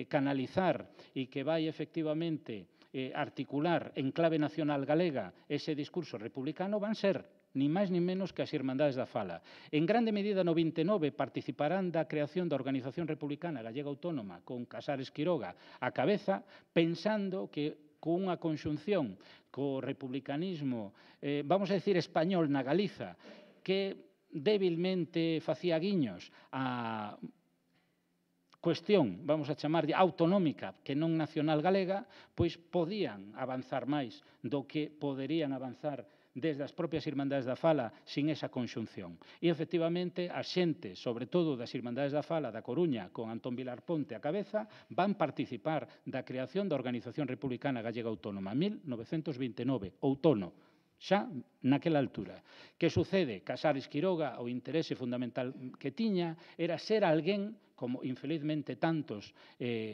canalizar e que vai, efectivamente, articular en clave nacional galega ese discurso republicano van ser ni máis ni menos que as Irmandades da Fala. En grande medida no 29 participarán da creación da Organización Republicana Gallega Autónoma con Casares Quiroga á cabeza, pensando que con unha conxunción co republicanismo, vamos a decir, español na Galiza, que débilmente facía guiños a cuestión, vamos a chamarlle, autonómica, que non nacional galega, pois podían avanzar máis do que poderían avanzar desde as propias Irmandades da Fala sin esa conxunción. E, efectivamente, as xentes, sobre todo das Irmandades da Fala da Coruña, con Antón Vilar Ponte á cabeza, van participar da creación da Organización Republicana Gallega Autónoma, 1929, outono, xa naquela altura. Que sucede? Casares Quiroga, o interese fundamental que tiña era ser alguén, como infelizmente tantos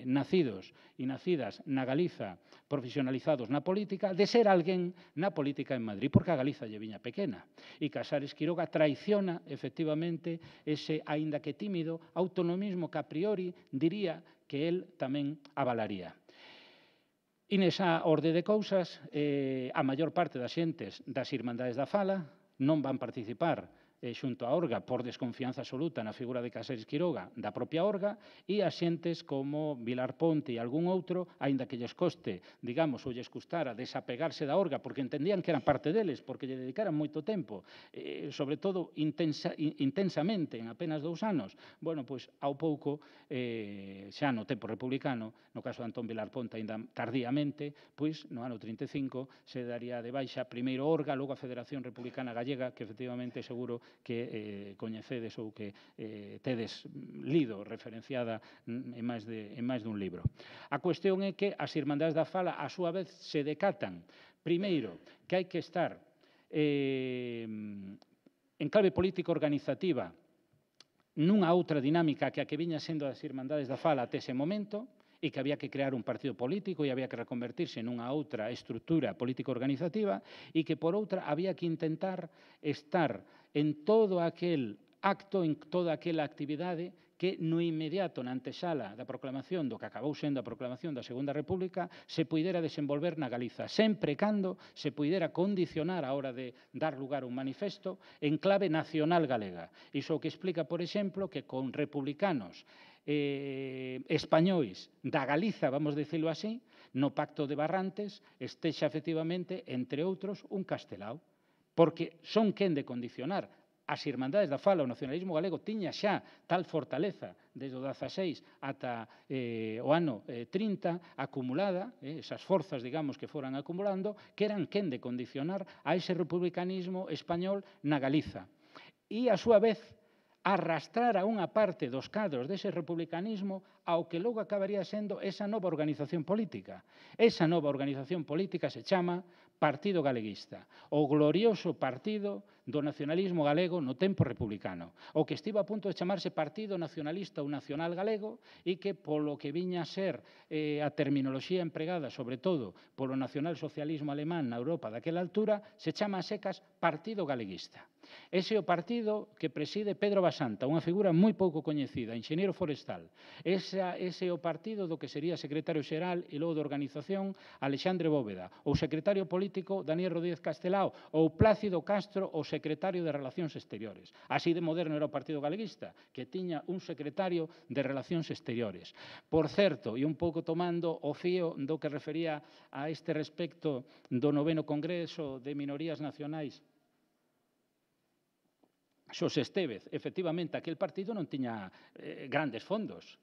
nacidos e nacidas na Galiza profesionalizados na política, de ser alguén na política en Madrid, porque a Galiza lle viña pequena. E Casares Quiroga traiciona, efectivamente, ese, aínda que tímido, autonomismo que a priori diría que el tamén avalaría. E nesa orde de cousas, a maior parte das xentes das Irmandades da Fala non van participar xunto á Orga por desconfianza absoluta na figura de Casares Quiroga da propia Orga e a xentes como Vilar Ponte e algún outro, aínda que lles coste, digamos, ou lles custara desapegarse da Orga porque entendían que eran parte deles, porque lle dedicaran moito tempo, sobre todo intensamente, en apenas 2 anos. Bueno, pois ao pouco, xa no tempo republicano, no caso de Antón Vilar Ponte aínda tardíamente, pois no ano 35 se daría de baixa primeiro Orga, logo a Federación Republicana Gallega, que efectivamente seguro que coñecedes ou que tedes lido, referenciada en máis dun libro. A cuestión é que as Irmandades da Fala, a súa vez, se decatan, primeiro, que hai que estar en clave política organizativa nunha outra dinámica que a que viña sendo as Irmandades da Fala até ese momento, e que había que crear un partido político e había que reconvertirse nunha outra estrutura político-organizativa e que, por outra, había que intentar estar en todo aquel acto, en toda aquela actividade que no inmediato, na antesala da proclamación do que acabou sendo a proclamación da Segunda República, se puidera desenvolver na Galiza, sempre cando se puidera condicionar a hora de dar lugar a un manifesto en clave nacional galega. Iso que explica, por exemplo, que con republicanos españois da Galiza, vamos dicilo así, no Pacto de Barrantes estexa efectivamente, entre outros, un Castelao, porque son quen de condicionar. As Irmandades da Fala, o nacionalismo galego tiña xa tal fortaleza desde o 16 ata o ano 30 acumulada, esas forzas, digamos, que foran acumulando, que eran quen de condicionar a ese republicanismo español na Galiza. E, a súa vez, arrastrar a unha parte dos cadros dese republicanismo ao que logo acabaría sendo esa nova organización política. Esa nova organización política se chama Partido Galeguista, o glorioso partido do nacionalismo galego no tempo republicano, o que estivo a punto de chamarse Partido Nacionalista ou Nacional Galego e que, polo que viña a ser a terminoloxía empregada, sobre todo polo nacionalsocialismo alemán na Europa daquela altura, se chama a secas Partido Galeguista. Ese é o partido que preside Pedro Basanta, unha figura moi pouco coñecida, enxeñeiro forestal. Ese é o partido do que sería secretario xeral e logo de organización Alexandre Bóveda, ou secretario político Daniel Rodríguez Castelao, ou Plácido Castro, o secretario de Relacións Exteriores. Así de moderno era o Partido Galeguista, que tiña un secretario de Relacións Exteriores. Por certo, e un pouco tomando o fío do que refería a este respecto do 9º Congreso de Minorías Nacionais, Xosé Estévez, efectivamente, aquel partido non tiña grandes fondos,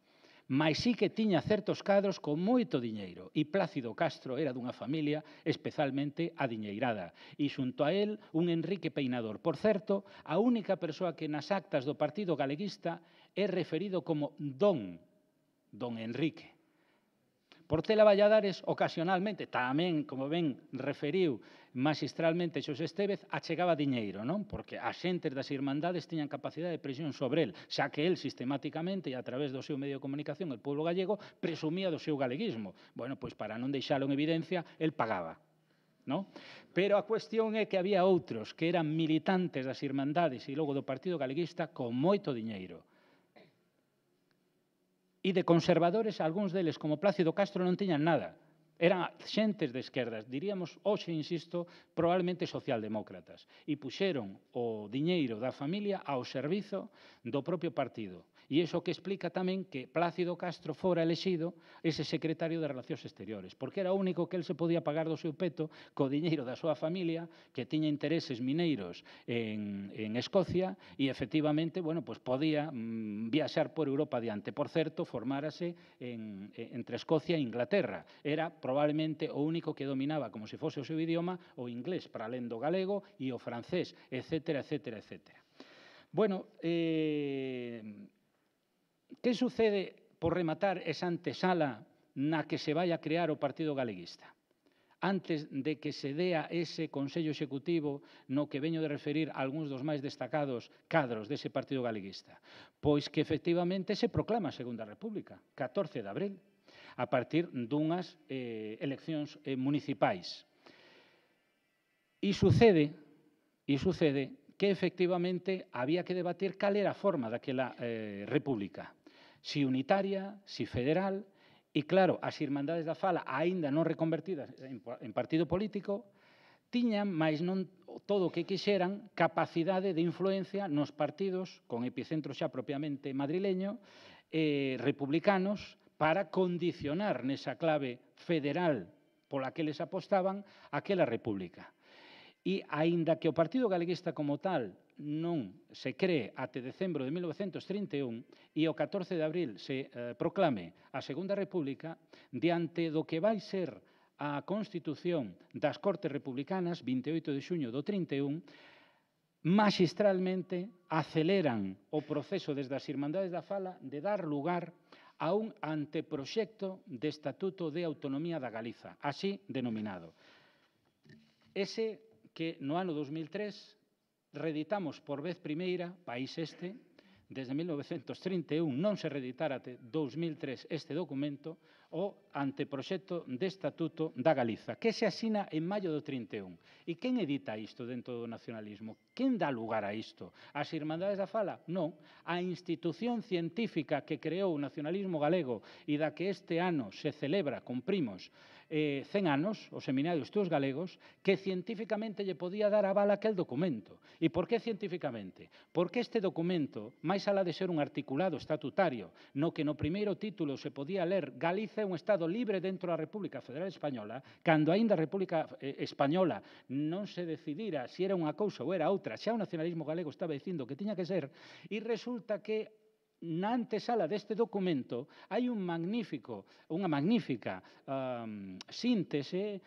mas sí que tiña certos cadros con moito diñeiro, e Plácido Castro era dunha familia especialmente adiñeirada, e xunto a él un Enrique Peinador. Por certo, a única persoa que nas actas do Partido Galeguista é referido como Don Enrique. Portela Valladares, ocasionalmente, tamén, como ben referiu magistralmente Xosé Estévez, achegaba diñeiro, non? Porque as xentes das Irmandades tiñan capacidade de presión sobre él, xa que él sistemáticamente e a través do seu medio de comunicación, el pueblo gallego, presumía do seu galeguismo. Bueno, pois para non deixalo en evidencia, el pagaba, non? Pero a cuestión é que había outros que eran militantes das Irmandades e logo do Partido Galeguista con moito diñeiro. E de conservadores, algúns deles, como Plácido Castro, non tiñan nada. Eran xentes de esquerdas, diríamos, hoxe, insisto, probablemente socialdemócratas. E puxeron o diñeiro da familia ao servizo do propio partido. E iso que explica tamén que Plácido Castro fora elexido ese secretario de Relacións Exteriores, porque era o único que el se podía pagar do seu peto co diñeiro da súa familia, que tiña intereses mineiros en Escocia, e efectivamente, bueno, pues podía viaxar por Europa adiante. Por certo, formárase entre Escocia e Inglaterra. Era probablemente o único que dominaba, como se fose o seu idioma, o inglés, para alén do galego, e o francés, etcétera, etcétera, etcétera. Bueno, que sucede, por rematar, esa antesala na que se vai a crear o Partido Galeguista? Antes de que se dea ese Consello Executivo no que veño de referir algúns dos máis destacados cadros dese Partido Galeguista? Pois que efectivamente se proclama a Segunda República, 14 de abril, a partir dunhas eleccións municipais. E sucede que efectivamente había que debatir cal era a forma daquela república, si unitaria, si federal, e claro, as Irmandades da Fala, aínda non reconvertidas en partido político, tiñan, mais non todo o que quixeran, capacidade de influencia nos partidos, con epicentro xa propiamente madrileño, republicanos, para condicionar nesa clave federal pola que eles apostaban aquela república. E, aínda que o Partido Galeguista como tal non se cree até decembro de 1931 e o 14 de abril se proclame a Segunda República, diante do que vai ser a Constitución das Cortes Republicanas, 28 de xuño do 31, magistralmente aceleran o proceso desde as Irmandades da Fala de dar lugar a un anteproxecto de Estatuto de Autonomía da Galiza, así denominado. Ese que no ano 2003 reeditamos por vez primeira, país este, desde 1931 non se reeditara até 2003 este documento, o anteproxecto de Estatuto da Galiza, que se asina en maio do 31. E quen edita isto dentro do nacionalismo? Quen dá lugar a isto? As Irmandades da Fala? Non. A institución científica que creou o nacionalismo galego e da que este ano se celebra, cumprimos, 100 anos, o Seminario de Estudos Galegos, que científicamente lle podía dar aval a aquel documento. E por que científicamente? Porque este documento, máis alá de ser un articulado estatutario, no que no primeiro título se podía ler Galiza é un Estado libre dentro da República Federal Española, cando aínda a República Española non se decidira se era unha cousa ou era outra, xa o nacionalismo galego estaba dicindo que tiña que ser, e resulta que na antesala deste documento hai unha magnífica síntese,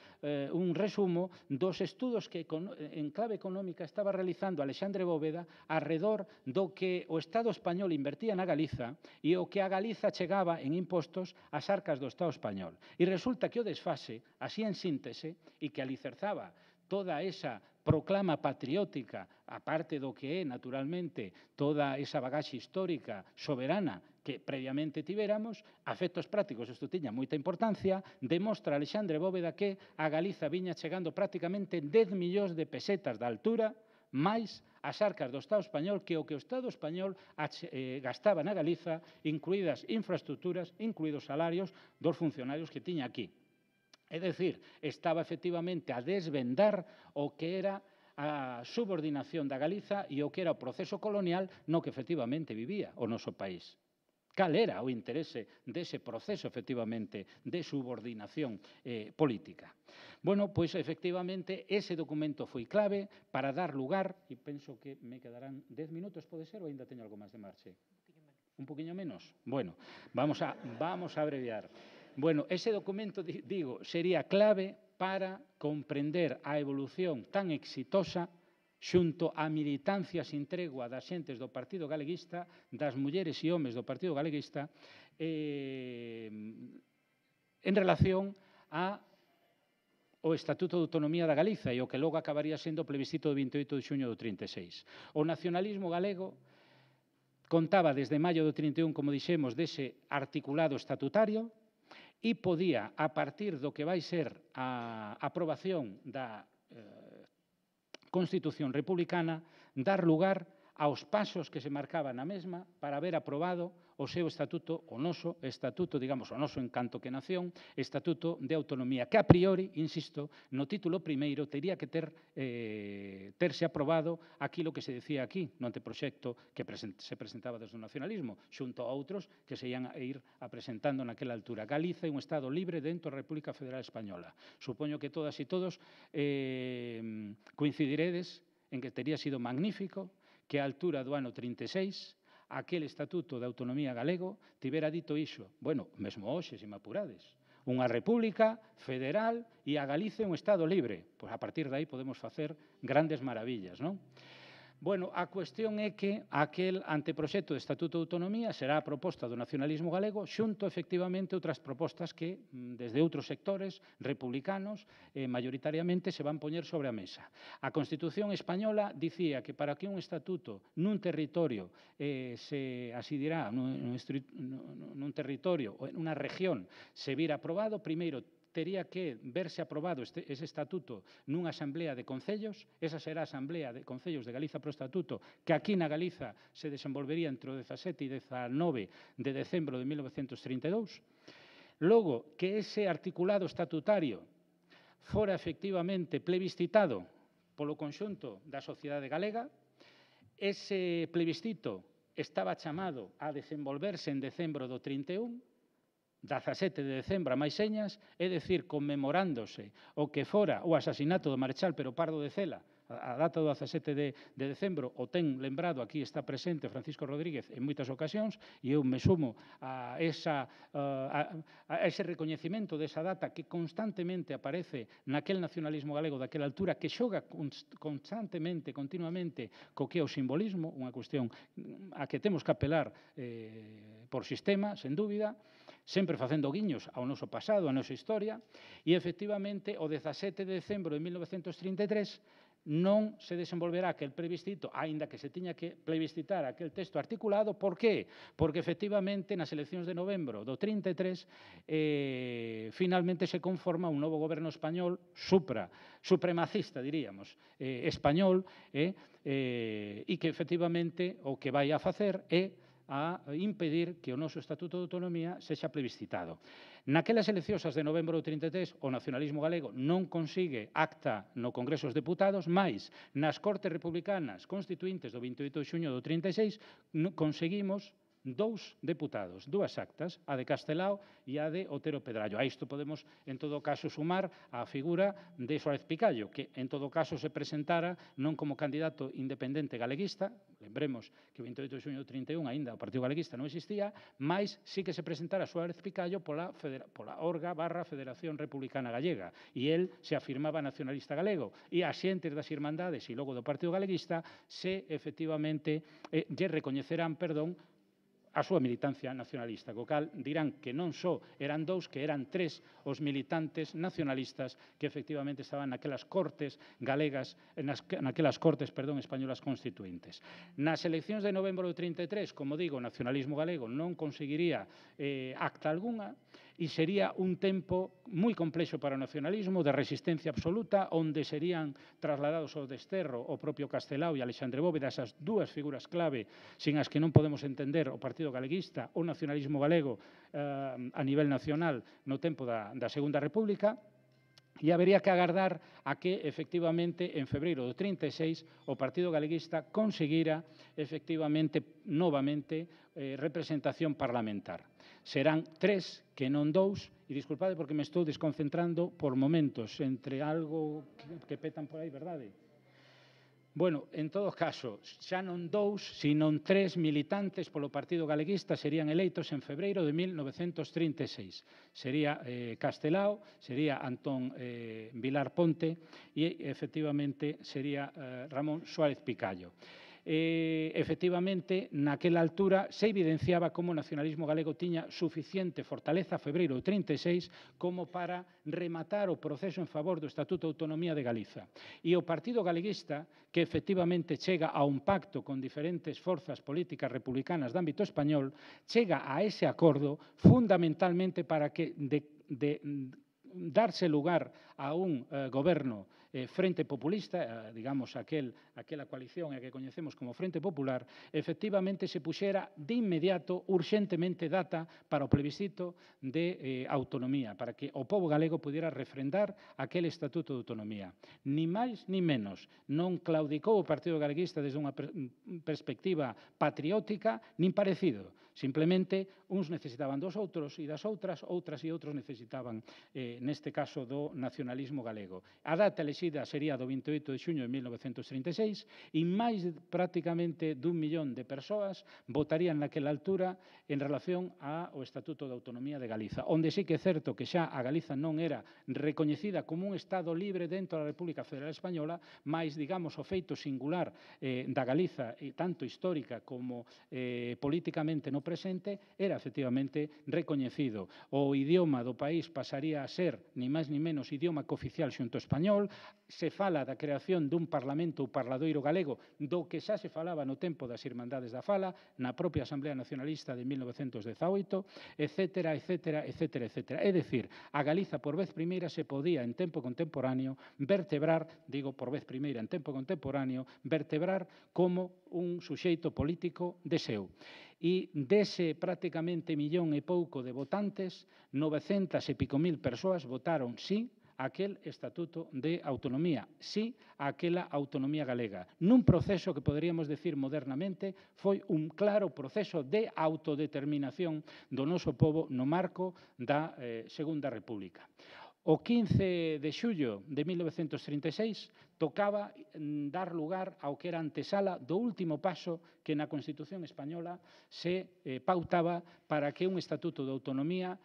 un resumo dos estudos que en clave económica estaba realizando Alexandre Bóveda arredor do que o Estado español invertía na Galiza e o que a Galiza chegaba en impostos ás arcas do Estado español. E resulta que o desfase, así en síntese, e que alicerzaba toda esa proclama patriótica, aparte do que é, naturalmente, toda esa bagaxe histórica soberana que previamente tivéramos, a efectos prácticos isto tiña moita importancia, demostra Alexandre Bóveda que a Galiza viña chegando prácticamente 10 millóns de pesetas de altura, máis as arcas do Estado español que o Estado español gastaba na Galiza, incluídas infraestructuras, incluídos salarios dos funcionarios que tiña aquí. É dicir, estaba efectivamente a desvendar o que era a subordinación da Galiza e o que era o proceso colonial no que efectivamente vivía o noso país. Cal era o interese dese proceso, efectivamente, de subordinación política? Bueno, pois, efectivamente, ese documento foi clave para dar lugar, e penso que me quedarán 10 minutos, pode ser, ou ainda teño algo máis de marche? Un poquinho menos? Bueno, vamos a abreviar. Bueno, ese documento, digo, sería clave para comprender a evolución tan exitosa xunto á militancia sin tregua das xentes do Partido Galeguista, das mulleres e homes do Partido Galeguista, en relación ao Estatuto de Autonomía da Galiza e o que logo acabaría sendo o plebiscito do 28 de xuño do 36. O nacionalismo galego contaba desde maio do 31, como dixemos, dese articulado estatutario, e podía, a partir do que vai ser a aprobación da Constitución republicana, dar lugar aos pasos que se marcaban na mesma para haber aprobado o seu estatuto, o noso estatuto, digamos, o noso en canto que nación, estatuto de autonomía, que a priori, insisto, no título primeiro tería que terse aprobado aquilo que se decía aquí, no anteproxecto que se presentaba desde o nacionalismo, xunto a outros que se ian a ir presentando naquela altura. Galiza é un Estado libre dentro da República Federal Española. Supoño que todas e todos coincidiredes en que tería sido magnífico que a altura do ano 36 aquel Estatuto de Autonomía galego tivera dito iso. Bueno, mesmo hoxe, se me apurades. Unha república federal e a Galiza un Estado libre. Pois a partir de aí podemos facer grandes maravillas, non? Bueno, a cuestión é que aquel anteproxecto de Estatuto de Autonomía será a proposta do nacionalismo galego xunto, efectivamente, outras propostas que, desde outros sectores republicanos, maioritariamente se van poñer sobre a mesa. A Constitución española dicía que para que un estatuto nun territorio se asidirá nun territorio ou en unha región se vira aprobado, primeiro tería que verse aprobado ese estatuto nunha asamblea de concellos, esa será a Asamblea de Concellos de Galiza pro Estatuto, que aquí na Galiza se desenvolvería entre o 17 e 19 de decembro de 1932. Logo, que ese articulado estatutario fora efectivamente plebiscitado polo conxunto da sociedade galega. Ese plebiscito estaba chamado a desenvolverse en decembro do 31, 17 de decembro a máis señas, é dicir, conmemorándose o que fora o asasinato do Marechal Pero Pardo de Cela, a data do 17 de decembro, o ten lembrado, aquí está presente Francisco Rodríguez en moitas ocasións, e eu me sumo a ese recoñecemento desa data que constantemente aparece naquel nacionalismo galego daquela altura, que xoga constantemente, continuamente, co que é o simbolismo, unha cuestión a que temos que apelar por sistema, sen dúbida, sempre facendo guiños ao noso pasado, á nosa historia, e efectivamente o 17 de decembro de 1933 non se desenvolverá aquel plebiscito, aínda que se tiña que plebiscitar aquel texto articulado. Por qué? Porque efectivamente nas eleccións de novembro do 33 finalmente se conforma un novo goberno español supremacista, diríamos, español, e que efectivamente o que vai a facer é a impedir que o noso Estatuto de Autonomía sexa plebiscitado. Naquelas eleccións de novembro do 33, o nacionalismo galego non consigue acta no Congreso dos Deputados, mais nas Cortes Republicanas Constituíntes do 28 de xuño do 36 conseguimos 2 deputados, 2 actas, a de Castelao e a de Otero Pedrallo. A isto podemos, en todo caso, sumar a figura de Suárez Picallo, que, en todo caso, se presentara non como candidato independente galeguista, lembremos que o 28 de xuño do 31 aínda o Partido Galeguista non existía, mas sí que se presentara Suárez Picallo pola orga / Federación Republicana Gallega, e el se afirmaba nacionalista galego, e as xentes das Irmandades e logo do Partido Galeguista se efectivamente lle recoñecerán, a súa militancia nacionalista, co cal dirán que non só eran 2, que eran 3 os militantes nacionalistas que efectivamente estaban naquelas cortes galegas, naquelas cortes, españolas constituíntes. Nas eleccións de novembro do 33, como digo, o nacionalismo galego non conseguiría acta algunha, e sería un tempo moi complexo para o nacionalismo, de resistencia absoluta, onde serían trasladados ao desterro o propio Castelao e Alexandre Bóveda, esas 2 figuras clave sin as que non podemos entender o Partido Galeguista, o nacionalismo galego a nivel nacional no tempo da Segunda República. E habería que agardar a que, efectivamente, en febreiro do 36, o Partido Galeguista conseguira, efectivamente, novamente, representación parlamentar. Serán 3 que non 2, e disculpade porque me estou desconcentrando por momentos entre algo que petan por aí, verdade? Bueno, en todo caso, xa non 2, sino 3 militantes polo Partido Galeguista serían eleitos en febreiro de 1936. Sería Castelao, sería Antón Vilar Ponte e, efectivamente, sería Ramón Suárez Picallo. Efectivamente, naquela altura se evidenciaba como o nacionalismo galego tiña suficiente fortaleza a febreiro do 36 como para rematar o proceso en favor do Estatuto de Autonomía de Galiza. E o Partido Galeguista, que efectivamente chega a un pacto con diferentes forzas políticas republicanas de ámbito español, chega a ese acordo fundamentalmente para que darse lugar a un goberno frente populista, digamos, aquela coalición que coñecemos como Frente Popular, efectivamente se puxera de inmediato, urxentemente, data para o plebiscito de autonomía, para que o pobo galego pudiera refrendar aquele Estatuto de Autonomía. Ni máis ni menos, non claudicou o Partido Galeguista desde unha perspectiva patriótica, nin parecido. Simplemente, uns necesitaban dos outros e das outras e outros necesitaban, neste caso, do nacionalismo galego. A data elexida sería do 28 de xuño de 1936 e máis prácticamente d'1 millón de persoas votarían naquela altura en relación ao Estatuto de Autonomía de Galiza, onde sí que é certo que xa a Galiza non era recoñecida como un Estado libre dentro da República Federal Española, mais, digamos, o feito singular da Galiza, tanto histórica como políticamente no presente, era efectivamente recoñecido. O idioma do país pasaría a ser, ni máis ni menos, idioma cooficial xunto ao español. Se fala da creación dun parlamento ou parladoiro galego, do que xa se falaba no tempo das Irmandades da Fala, na propia Asamblea Nacionalista de 1918, etcétera, etcétera, etcétera, etcétera. É dicir, a Galiza por vez primeira se podía en tempo contemporáneo vertebrar, digo por vez primeira en tempo contemporáneo, vertebrar como un suxeito político de seu. E dese prácticamente millón e pouco de votantes, 900 e pico mil persoas votaron sí aquel Estatuto de Autonomía, sí aquela autonomía galega, nun proceso que poderíamos decir modernamente foi un claro proceso de autodeterminación do noso pobo no marco da Segunda República. O 15 de xullo de 1936 tocaba dar lugar ao que era antesala do último paso que na Constitución española se pautaba para que un Estatuto de Autonomía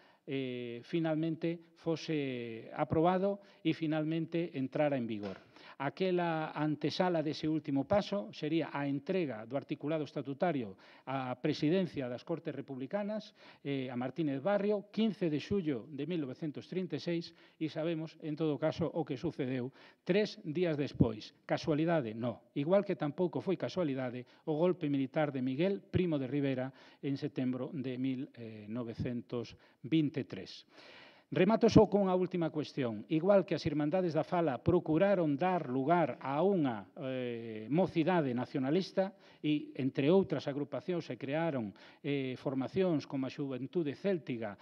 finalmente fose aprobado e finalmente entrara en vigor. Aquela antesala dese último paso sería a entrega do articulado estatutario á presidencia das Cortes Republicanas, a Martínez Barrio, 15 de xullo de 1936, e sabemos, en todo caso, o que sucedeu 3 días despois. Casualidade? No. Igual que tampouco foi casualidade o golpe militar de Miguel Primo de Rivera en setembro de 1923. Remato só con a última cuestión. Igual que as Irmandades da Fala procuraron dar lugar a unha mocidade nacionalista e, entre outras agrupacións, se crearon formacións como a Xuventude Céltiga,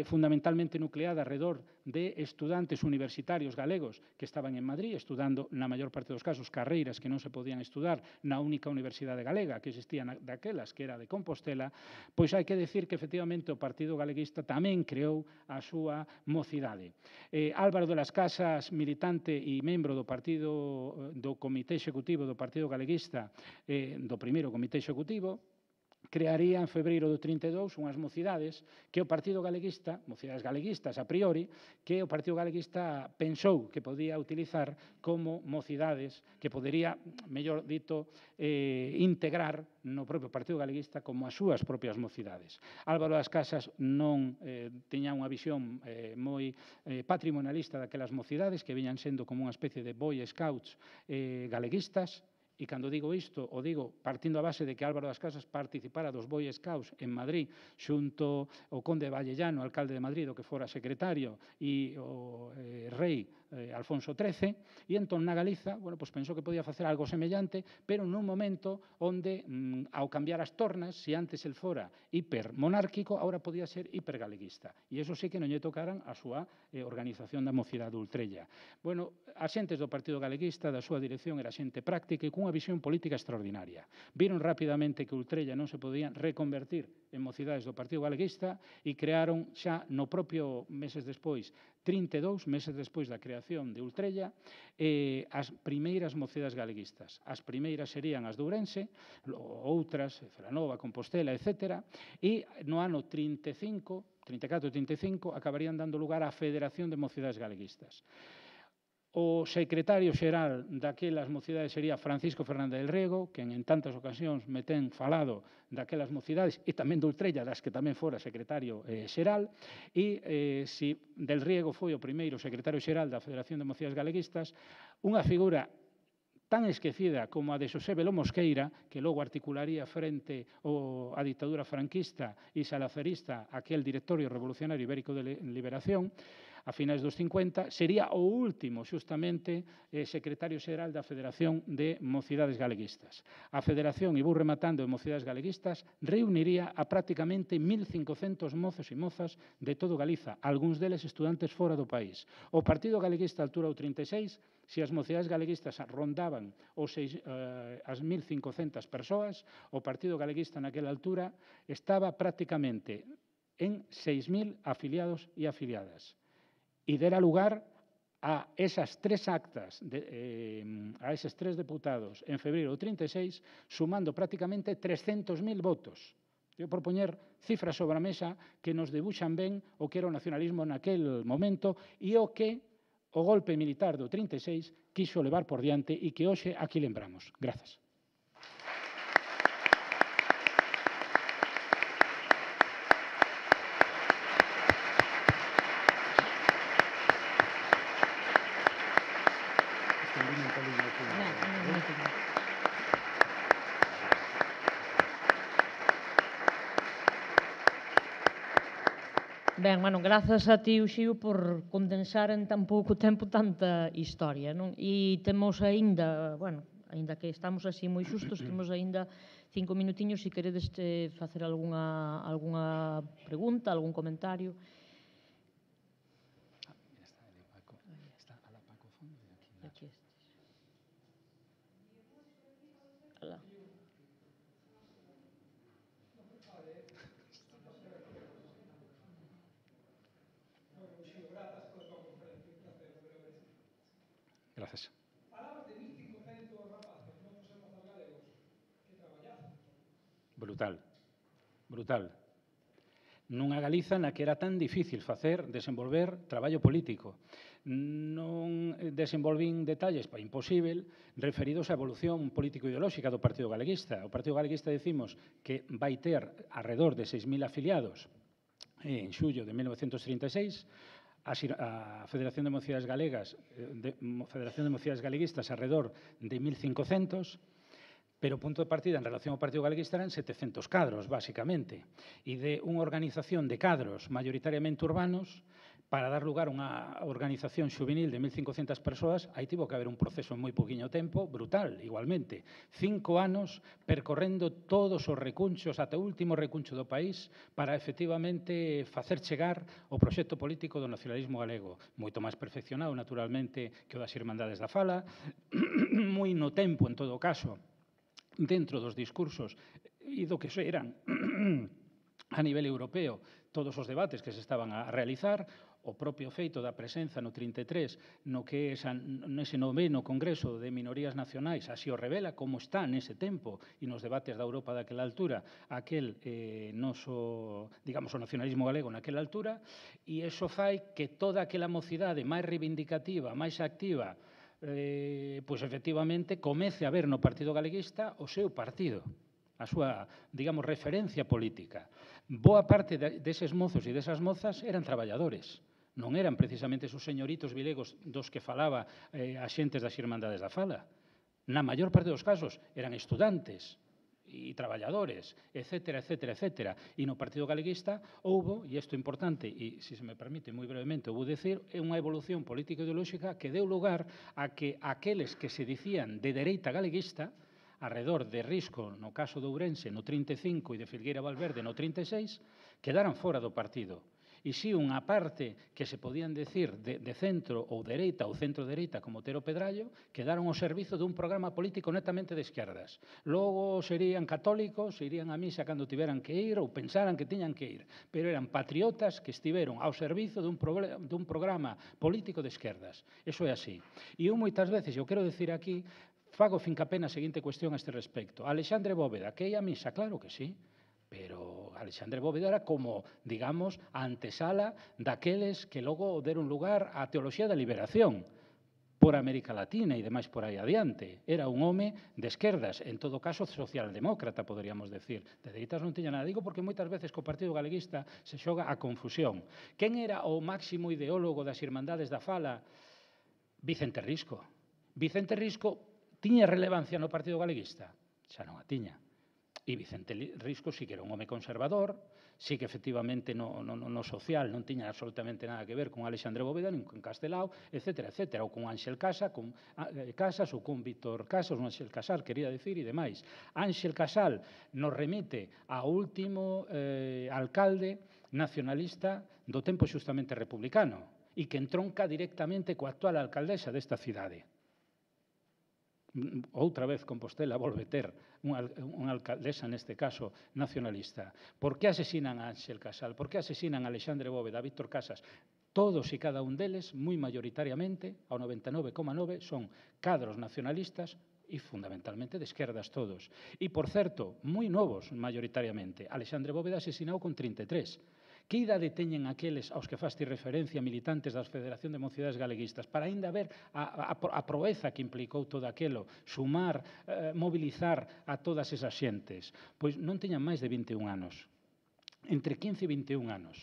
fundamentalmente nucleada alrededor de estudantes universitarios galegos que estaban en Madrid, estudando, na maior parte dos casos, carreiras que non se podían estudar na única universidade galega que existía daquelas, que era de Compostela, pois hai que decir que, efectivamente, o Partido Galeguista tamén creou a súa mocidade. Álvaro de las Casas, militante e membro do Comité Executivo do Partido Galeguista, do primeiro Comité Executivo, crearía en febreiro do 32 unhas mocidades que o Partido Galeguista, mocidades galeguistas a priori, que o Partido Galeguista pensou que podía utilizar como mocidades que podería, mellor dito, integrar no propio Partido Galeguista como as súas propias mocidades. Álvaro das Casas non tiña unha visión moi patrimonialista daquelas mocidades que viñan sendo como unha especie de Boy Scouts galeguistas. E cando digo isto, o digo partindo a base de que Álvaro das Casas participara dos Boy Scouts en Madrid xunto ao conde de Vallellano, alcalde de Madrid, o que fora secretario, e o rei Alfonso XIII, e entón na Galiza, bueno, pois pensou que podía facer algo semellante, pero nun momento onde, ao cambiar as tornas, se antes el fora hipermonárquico, agora podía ser hipergaleguista. E iso sí que non lle tocaran a súa organización da mocidade ultrella. Bueno, as xentes do Partido Galeguista, da súa dirección, era xente práctica e cunha visión política extraordinaria. Viron rapidamente que Ultrella non se podían reconvertir en mocidades do Partido Galeguista e crearon xa no propio meses despois, 32 meses despois da creación de Ultrella, as primeiras mocidades galeguistas. As primeiras serían as de Ourense, outras, Celanova, Compostela, etc. E no ano 34-35 acabarían dando lugar á Federación de Mocidades Galeguistas. O secretario xeral daquelas mocidades sería Francisco Fernández del Riego, que en tantas ocasións me ten falado daquelas mocidades e tamén de Ultrella, das que tamén fora secretario xeral, e si del Riego foi o primeiro secretario xeral da Federación de Mocidades Galeguistas, unha figura tan esquecida como a de Xosé Beló Mosqueira, que logo articularía frente á ditadura franquista e salazarista aquel Directorio Revolucionario Ibérico de Liberación, a finais dos 50, sería o último, xustamente, secretario xeral da Federación de Mocidades Galeguistas. A Federación, e vou rematando, de Mocidades Galeguistas, reuniría a prácticamente 1.500 mozos e mozas de todo Galiza, algúns deles estudantes fora do país. O Partido Galeguista, a altura do 36, se as mocidades galeguistas rondaban as 1.500 persoas, o Partido Galeguista naquela altura estaba prácticamente en 6.000 afiliados e afiliadas. E dera lugar a esas tres actas, a eses tres deputados en febreiro do 36, sumando prácticamente 300.000 votos. Eu por poñer cifras sobre a mesa que nos debuxan ben o que era o nacionalismo naquel momento e o que o golpe militar do 36 quiso levar por diante e que hoxe aquí lembramos. Grazas. Ben, bueno, grazas a ti, Uxío, por condensar en tan pouco tempo tanta historia, non? E temos aínda, bueno, aínda que estamos así moi xustos, temos aínda 5 minutiños se queredes facer algunha pregunta, algún comentario. Grazas. Brutal, brutal. Nunha Galiza na que era tan difícil facer, desenvolver traballo político. Non desenvolvín detalles, imposível, referidos á evolución político-ideolóxica do Partido Galeguista. O Partido Galeguista decimos que vai ter alrededor de 6.000 afiliados en xullo de 1936, a Federación de Mocidades Galegas, Federación de Mocidades Galeguistas, alrededor de 1.500, pero o punto de partida en relación ao Partido Galeguista eran 700 cadros, basicamente, e de unha organización de cadros maioritariamente urbanos para dar lugar a unha organización xuvenil de 1.500 persoas, aí tivo que haber un proceso en moi poquinho tempo, brutal, igualmente. 5 anos percorrendo todos os recunchos, ata o último recuncho do país, para efectivamente facer chegar o proxecto político do nacionalismo galego. Moito máis perfeccionado, naturalmente, que o das Irmandades da Fala, moi no tempo, en todo caso, dentro dos discursos e do que eran a nivel europeo todos os debates que se estaban a realizar, o propio feito da presenza no 33 no que nese noveno Congreso de Minorías Nacionais así o revela como está nese tempo e nos debates da Europa daquela altura aquel noso, digamos, o nacionalismo galego naquela altura, e iso fai que toda aquela mocidade máis reivindicativa, máis activa, pois efectivamente comece a ver no Partido Galeguista o seu partido, a súa, digamos, referencia política. Boa parte deses mozos e desas mozas eran traballadores, non eran precisamente esos señoritos vilegos dos que falaba a xentes das Irmandades da Fala. Na maior parte dos casos eran estudantes e traballadores, etcétera, etcétera, etcétera. E no Partido Galeguista houbo, e isto é importante, e se me permite moi brevemente o vou decir, é unha evolución político-ideolóxica que deu lugar a que aqueles que se dicían de dereita galeguista, alrededor de Risco, no caso de Ourense, no 35 e de Filgueira Valverde no 36, quedaran fora do partido. E si unha parte que se podían decir de centro ou dereita ou centro-dereita como Otero Pedrallo quedaron ao servizo dun programa político netamente de esquerdas. Logo serían católicos, irían a misa cando tiveran que ir ou pensaran que tiñan que ir, pero eran patriotas que estiveron ao servizo dun programa político de esquerdas. Eso é así. E eu moitas veces, eu quero decir aquí, fago fincapé na seguinte cuestión a este respecto. Alexandre Bóveda, que ia a misa? Claro que sí. Pero Alexandre Bóveda era como, digamos, a antesala daqueles que logo deron lugar á teoloxía da liberación por América Latina e demais por aí adiante. Era un home de esquerdas, en todo caso socialdemócrata, poderíamos decir. De dereitas non tiña nada. Digo porque moitas veces co Partido Galeguista se xoga a confusión. Quen era o máximo ideólogo das Irmandades da Fala? Vicente Risco. Vicente Risco tiña relevancia no Partido Galeguista? Xa non a tiña. E Vicente Risco sí que era un home conservador, sí que efectivamente no social non tiña absolutamente nada que ver con Alexandre Bóveda, nin con Castelao, etcétera, etcétera, ou con Ángel Casas, ou con Víctor Casas, ou Ángel Casal, quería decir, e demais. Ángel Casal nos remite ao último alcalde nacionalista do tempo xustamente republicano e que entronca directamente coa actual alcaldesa desta cidade. Outra vez Compostela volve ter unha alcaldesa, neste caso, nacionalista. Por que asesinan a Ángel Casal? Por que asesinan a Alexandre Bóveda, a Víctor Casas? Todos e cada un deles, moi maioritariamente, ao 99,9, son cadros nacionalistas e fundamentalmente de esquerdas todos. E, por certo, moi novos maioritariamente. Alexandre Bóveda asesinado con 33. Que idade teñen aqueles aos que faste referencia militantes da Federación de Mocidades Galeguistas para aínda ver a proeza que implicou todo aquilo, sumar, mobilizar a todas esas xentes? Pois non teñan máis de 21 anos, entre 15 e 21 anos.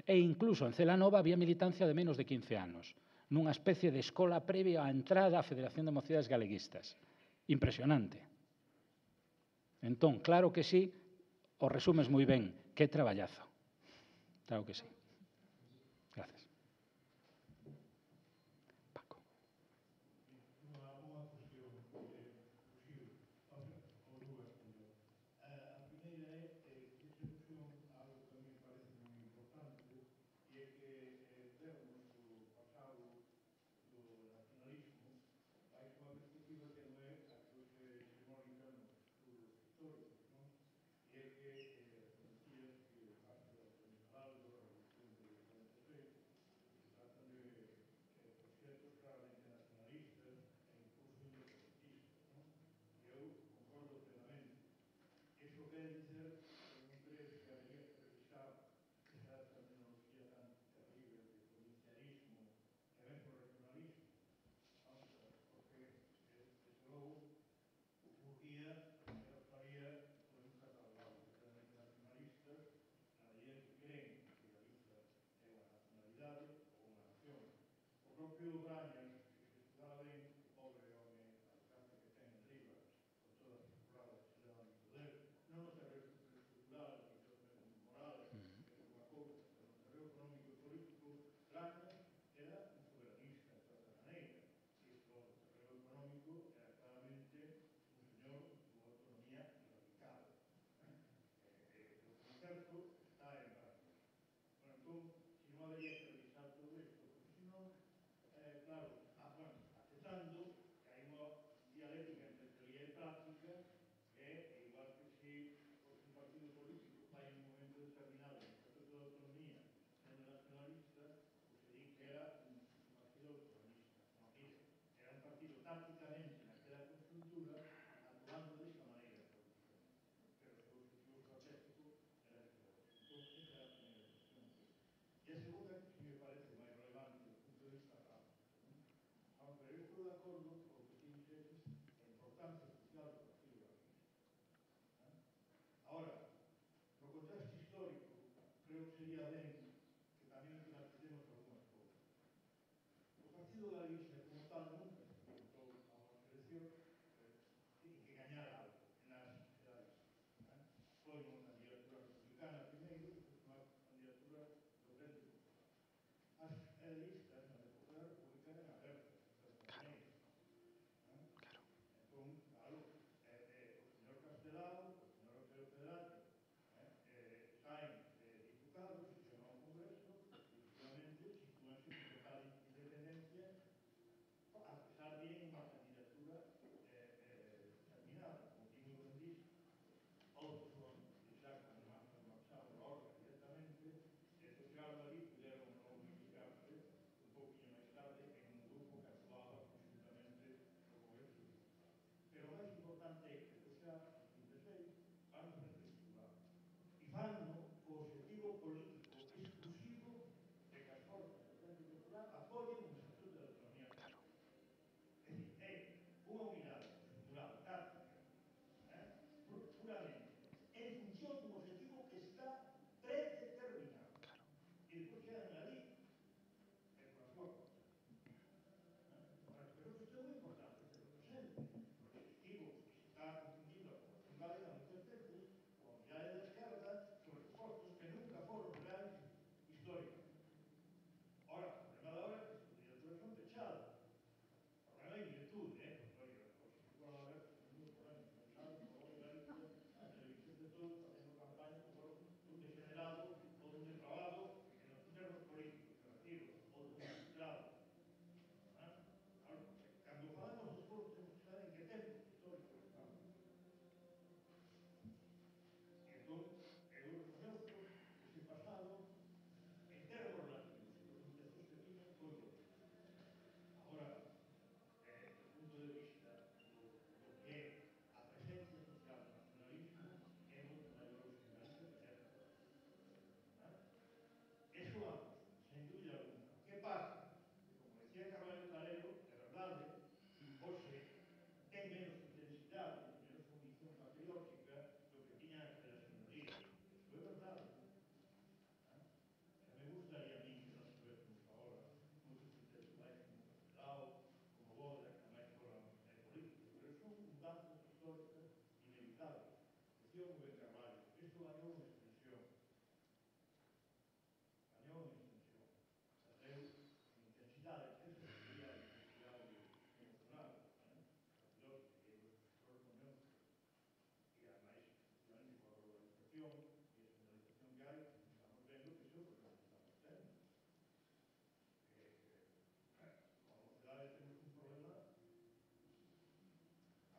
E incluso en Celanova había militancia de menos de 15 anos, nunha especie de escola previa á entrada á Federación de Mocidades Galeguistas. Impresionante. Entón, claro que sí, o resumes moi ben, que traballazo. Claro que sí. Gracias. Paco. A primeira é que se puxou algo que a mí me parece moi importante e é que vermos o pasado do nacionalismo hai unha perspectiva que non é a que hoxe é hegemónica nos estudos históricos, non? E é que as fotografías que basta señalar da Revolución E a segunda, que me parece máis relevante do punto de vista práctico. Vamos ver, eu estou de acordo con que ti dixeses a importancia social do Partido Galeguista. Ahora, no contraste histórico, creo que sería ben que tamén enfatizemos algunhas cousas. O Partido Galeguista como tal nunca se presentou a unha selección que gañara algo nas xerais. Foi unha candidatura republicana primeiro, depois unha candidatura do Frente Popular. As listas na época da República eran abertas, de certa maneira. Entón, claro, o señor Castelao, o señor Otero Pedrate, saen diputados, chegan ao Congreso, e efectivamente sitúanse con total independencia, a pesar de ir unha candidatura determinada, como ti moi ben dixo. Outros son, xa como marcharon a Orga directamente, do chegaron ali, puderon non unificarse un pouquinho máis tarde en un grupo que actuaba conjuntamente no Congreso de Diputados. Pero o máis importante é que do xa, os 26, van no Frente Popular. E van co objetivo político exclusivo de que as forzas do Frente Popular apoyen o Estatuto de Autonomía. É dicir, é unha unidade estructural, táctica, puramente, en función dun objetivo que está predeterminado. E depois quedan ali por a súa conta. Pero isto é moi importante terlo presente, porque se estivo e se está confundindo a población galega moitas veces con a unidade da esquerda sobre supostos que nunca foron reais históricamente. Ora, o problema da hora é que as candidaturas son pechadas. O problema é virtude, porque, oiga, os que foron a ver, non é problema, non saben, por de Galicia, a televisión de todo, facendo campaña por un degenerado ou un depravado, en termos políticos, me retiro, ou un frustrado. Cando falamos de esforzo, temos que saber en que tempo histórico estamos. E entón, eu reconozco que ese pasado, en termos relativos, e os contextos que tiña, foi bo. Agora, do punto de vista do que é a presencia social do nacionalismo, é moito maior hoxe en Galicia que nesta. Eso vamos, sen dúbida alguna. Que pasa? Como decía Carvalho Calero, é verdade, hoxe ten menos intensidade, menos condición patriótica do que tiña aquela señoría. Eso é verdade. Me gustaría a mí que nós tuvéssemos agora moitos intelectuais como Castelao, como Boda, que tamén foran políticos, pero son mudanzas históricas inevitables. Decía moi ben Carvalho, isto gañou unha extensión. Gañou unha extensión. Perdeu intensidade, esa sería a intensidade emocional, patriótica, que eu reconozco. E ademais, efectivamente, coa globalización e a centralización que hai, estamos vendo que iso é o problema que estamos tendo. Con a mocidade temos un problema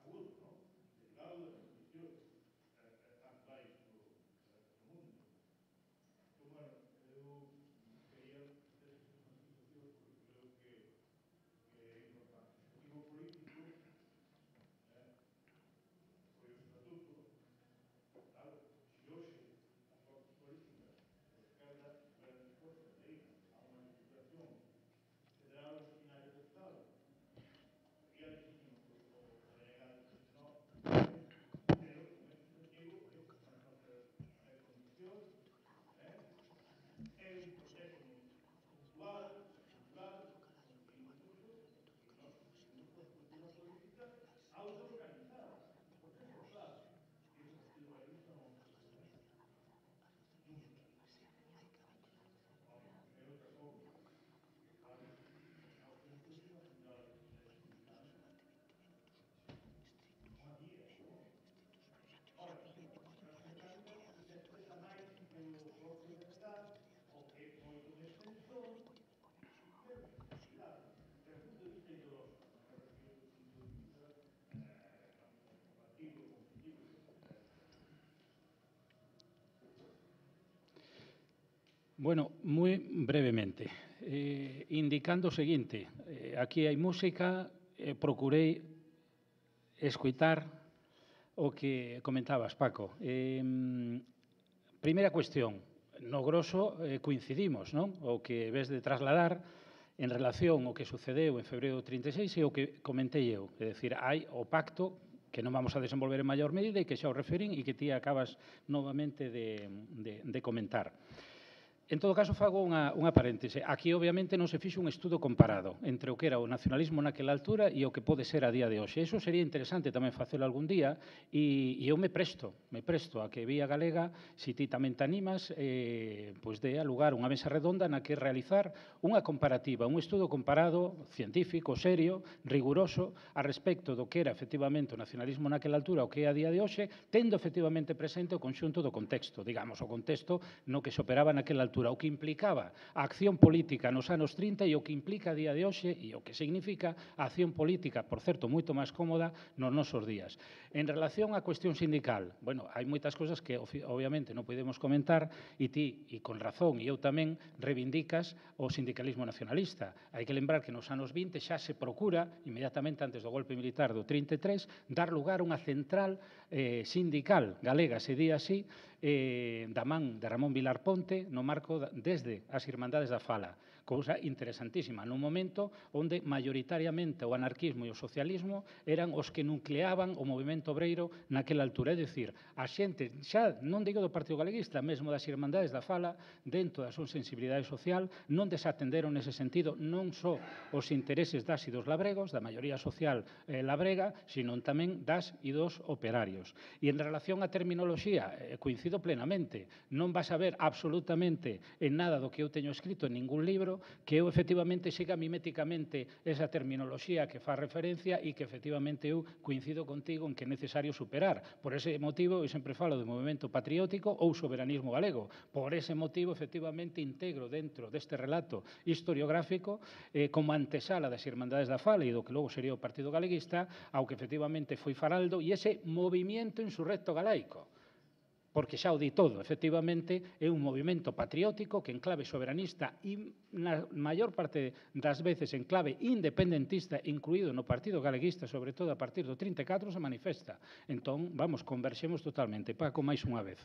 agudo, non? Derivado das condicións actuais do mundo. Entón, bueno, eu quería ter estas matizacións porque creo que é importante. O objetivo político foi o estatuto. Claro, se hoxe as forças políticas de esquerda estiveran dispostas a ir a unha legislación federal originaria do Estado, sería legítimo o delegado deste no, pero con ese objetivo, estas son as nosas condicións, é un proceso puntual, cultural, incluso, e nós temos a cultura política auto-organizada. Proceso claro. E o Partido Galeguista non o fixo nunca. Nunca. Vamos, é outra cousa. Que claro, nós temos hoxe unha central sindical. Non había, non? Ora, as mecánicas que se expresa máis pelo propio delegado, o que é moito de extensor, menos intensidade. Desde o punto de vista ideológico, non me refiro do punto de vista informativo, competitivo, etc. Bueno, moi brevemente, indicando o seguinte, aquí hai música, procurei escoitar o que comentabas, Paco. Primeira cuestión, no grosso coincidimos, non? O que ves de trasladar en relación ao que sucedeu en febreiro do 36 e o que comentei eu. É dicir, hai o pacto que non vamos a desenvolver en maior medida e que xa o referín e que ti acabas novamente de comentar. En todo caso, fago unha paréntese. Aquí, obviamente, non se fixo un estudo comparado entre o que era o nacionalismo naquela altura e o que pode ser a día de hoxe. Eso sería interesante tamén facelo algún día e eu me presto a que Vía Galega, se ti tamén te animas, pois dé a lugar unha mesa redonda na que realizar unha comparativa, un estudo comparado, científico, serio, riguroso, a respecto do que era efectivamente o nacionalismo naquela altura, o que é a día de hoxe, tendo efectivamente presente o conxunto do contexto, digamos, o contexto no que se operaba naquela altura, o que implicaba a acción política nos anos 30 e o que implica a día de hoxe e o que significa a acción política, por certo, moito máis cómoda nos nosos días. En relación á cuestión sindical, bueno, hai moitas cousas que obviamente non podemos comentar e ti, e con razón, e eu tamén, reivindicas o sindicalismo nacionalista. Hai que lembrar que nos anos 20 xa se procura, inmediatamente antes do golpe militar do 33, dar lugar a unha central sindical galega, se di así, da man de Ramón Vilar Ponte, no marco desde as Irmandades da Fala. Cousa interesantísima, nun momento onde maioritariamente o anarquismo e o socialismo eran os que nucleaban o movimento obreiro naquela altura. É dicir, a xente, xa non digo do Partido Galeguista, mesmo das Irmandades da Fala, dentro da súa sensibilidade social, non desatenderon nese sentido non só os intereses das e dos labregos, da maioría social labrega, sino tamén das e dos operarios. E en relación á terminoloxía, coincido plenamente, non vas a ver absolutamente en nada do que eu teño escrito en ningún libro que eu efectivamente siga miméticamente esa terminoloxía que fa referencia e que efectivamente eu coincido contigo en que é necesario superar. Por ese motivo, eu sempre falo de movimento patriótico ou soberanismo galego. Por ese motivo, efectivamente, integro dentro deste relato historiográfico como antesala das Irmandades da Fala e do que logo sería o Partido Galeguista, ao que efectivamente foi Faraldo e ese movimento insurrecto galaico. Porque xa o di todo, efectivamente, é un movimento patriótico que en clave soberanista e na maior parte das veces en clave independentista, incluído no Partido Galeguista, sobre todo a partir do 34, se manifesta. Entón, vamos, converxemos totalmente. Paco, máis unha vez.